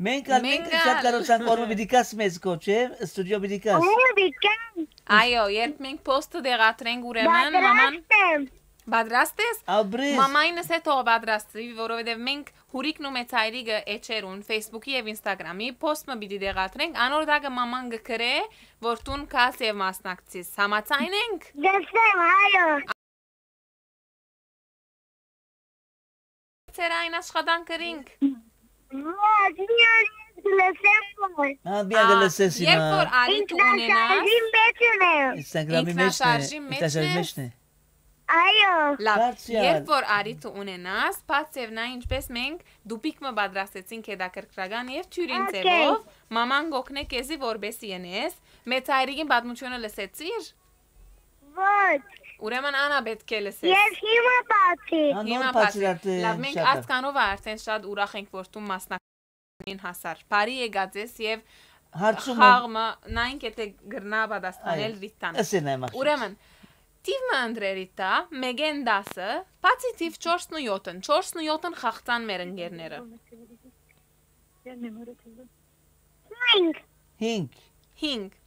Մենք ալ, մենք Մենք շատ ալ։ Կարոցանք, օրը պիտի կաս մեզ քո, չէ՞, ստուդիո պիտի կաս։ Այո, պիտի կաս։ Այո, երբ մենք post-ը դեղատրենք, ուրեմն, մաման Պատրաստ եմ։ Պատրաստ ես։ Աբրիս։ Մամայինս հետ թող պատրաստվի, որովհետև մենք Հուրիկն ու մեծայրիկը էջերուն, Facebook-ի եւ Instagram-ի post մը պիտի դեղադրենք, անոր տակը մաման կը գրէ, որ դուն կաս եւ մասնակցիս։ Համաձայն ենք։ Լսեմ, այո։ Ծեր այն աշխատանք կրինք։ Ոչ, միան ես լսեմ, որ։ Հա, միան Ա, կլսես երբ հիմա։ Որ արիթ ունենաս, Ինքնաշարժի մեջ ունեմ։ Instagram-ի մէջն է, Ինքնաշարժի մէջն Instagram-ի ես։ Մէջն է։ Այո։ Լավ, Դարձյալ։ Երբ որ արիթ ունենաս, բաց եւ նա ինչպես մենք դուպիկ մը պատրաստեցինք հետաքրքրական եւ թիւրին Οκ։ Ձևով, մաման կօգնէ քեզի որպեսի ընես, մեծ հայրիկին պատմությունը լսեցիր։ Ոչ։ Ուրեմն անա պէտք է լսես։ Ես հիմա բացի։ Հա, Հիմա նոր բացի։ Բացիր արդեն Լավ, մենք շատ է։ Ազգանովը արդեն շատ ուրախ ենք, որ դու մասնակցին հասար։ Բարի եկած ես եւ Հարցումը խաղ մը նայենք, եթե գրնա պատասխանել Այո, Ռիտան։ Ըսեն այ մախ Ուրեմն, թիվ մը ընտրե Ռիտա, մէկէն տասը, բացի թիվ չորսն ու յոթն, չորսն ու յոթն խաղցան մեր ընկերները։ Հինգ։ Հինգ։ Հինգ։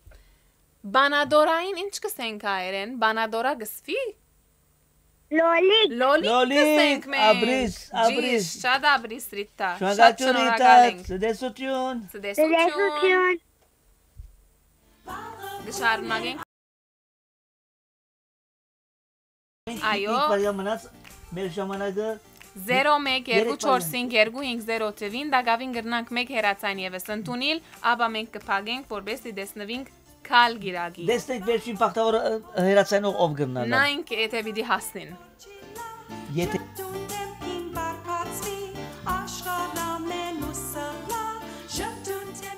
Բանադորային ինչ կսենք հայերեն, բանադորա կսվի։ Լոլիկ։ Լոլիկ Լոլիկ, կսենք մենք։ Աբրիս, աբրիս։ Ճիշտ, շատ աբրիս Ռիտա։ Շատ Շնորհակալ Ռիտա, շնորհակալ ենք։ Ցտեսություն։ Ցտեսություն։ Ցտեսություն։ Կշարունակենք։ Այո։ Մենք մնաց մեր ժամանակը Զերո մեկ երկու չորս հինգ երկու հինգ զերո թիվին, տակաւին կրնանք մեկ հեռացան եւս ընդունիլ, ապա մենք կփակենք, որպեսզի տեսնուինք քալ գիրագի։ Տեսնենք վերջին բախտավոր, ը, հեռացանող ով կրնա լալ։ Նայենք, եթե պիտի հասնին։ Եթե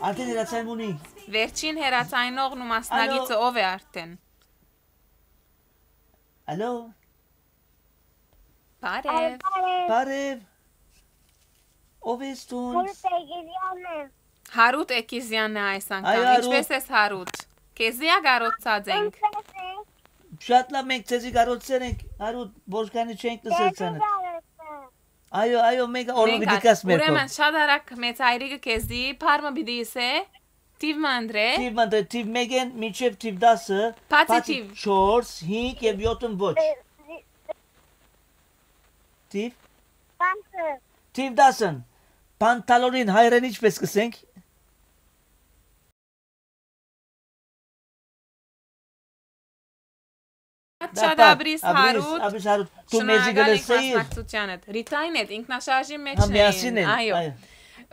Արդեն հեռացան ունի։ Վերջին հեռացանողն ու մասնակիցը Ալո։ Ով է արդեն։ Ալո։ Բարև։ Բարև։ Ով ես դուն։ Հարութ Էգիզյանն եմ։ Հարութ Էգիզյանն է այս անգամ։ Այո, Հարութ։ Ինչպե՞ս ես, Հարութ։ Քեզի ա կարոցած ենք։ Ինչպե՞ս եք։ Շատ լավ, մենք ձեզի կարոցեր ենք, Հարութ, ոչ քանի չենք լսել Քեզի ցանը։ Կարոցը։ Այո, այո, մենք օրը Մենք պիտի ա-, գաս մեր ուրեմն, քով։ Շատ արագ մեծ հայրիկը քեզի, փարմը պիտի իսե, թիվ մը անդրե։ Թիվ մը անդրե, թիվ մեկեն մինչև թիվ տասը, Բացի բացի թիվ։ չորս, հինգ եւ յոթն ոչ։ Դե-, դե- Թիվ։ Տասը։ Թիվ տասն։ Պանթալոնին հայերեն ինչպես կսենք։ Շատ Դապա, աբրիս, աբրիս, Հարութ, աբրիս Հարութ, դու մեզի շնորհակալ ենք գլսեիր։ Մասնակցությանդ։ Ռիտային հետ ինքնաշարժի մեջ Հա, միասին են, են, այո։ Այո։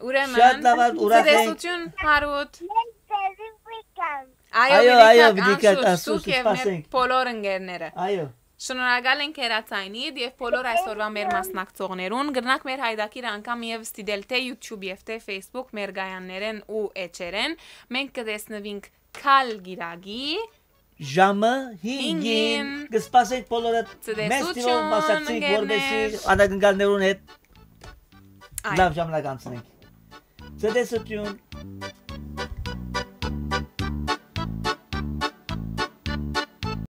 Ուրեմն, Շատ լավ, ա, ուրախ ենք։ Ցտեսություն, Հարութ։ Մենք ձեզի պիտի գանք։ Այո, Այո, պիտի այո, գանք, պիտի գանք, անշուշտ, անշուշտ, դուք եւ մեր սպասենք։ Բոլոր ընկերները։ Այո։ Շնորհակալ ենք հեռացայինիդ եւ բոլոր այսօրվա մեր մասնակցողներուն։ Կրնանք մեր հայդակիրը անգամ եւս դիտել թէ YouTube եւ թէ Facebook մեր գայաններէն ու էջերէն։ Մենք կտեսնուինք քալ գիրագի ժամը հինգին։ Հինգին։ Կսպասենք բոլորը մեծ Ցտեսություն, թիվով մասնակցենք, ընկերներ։ Որպեսզի անակնկալներուն հետ Այո։ Լավ ժամանակ անցնենք։ Ցտեսություն։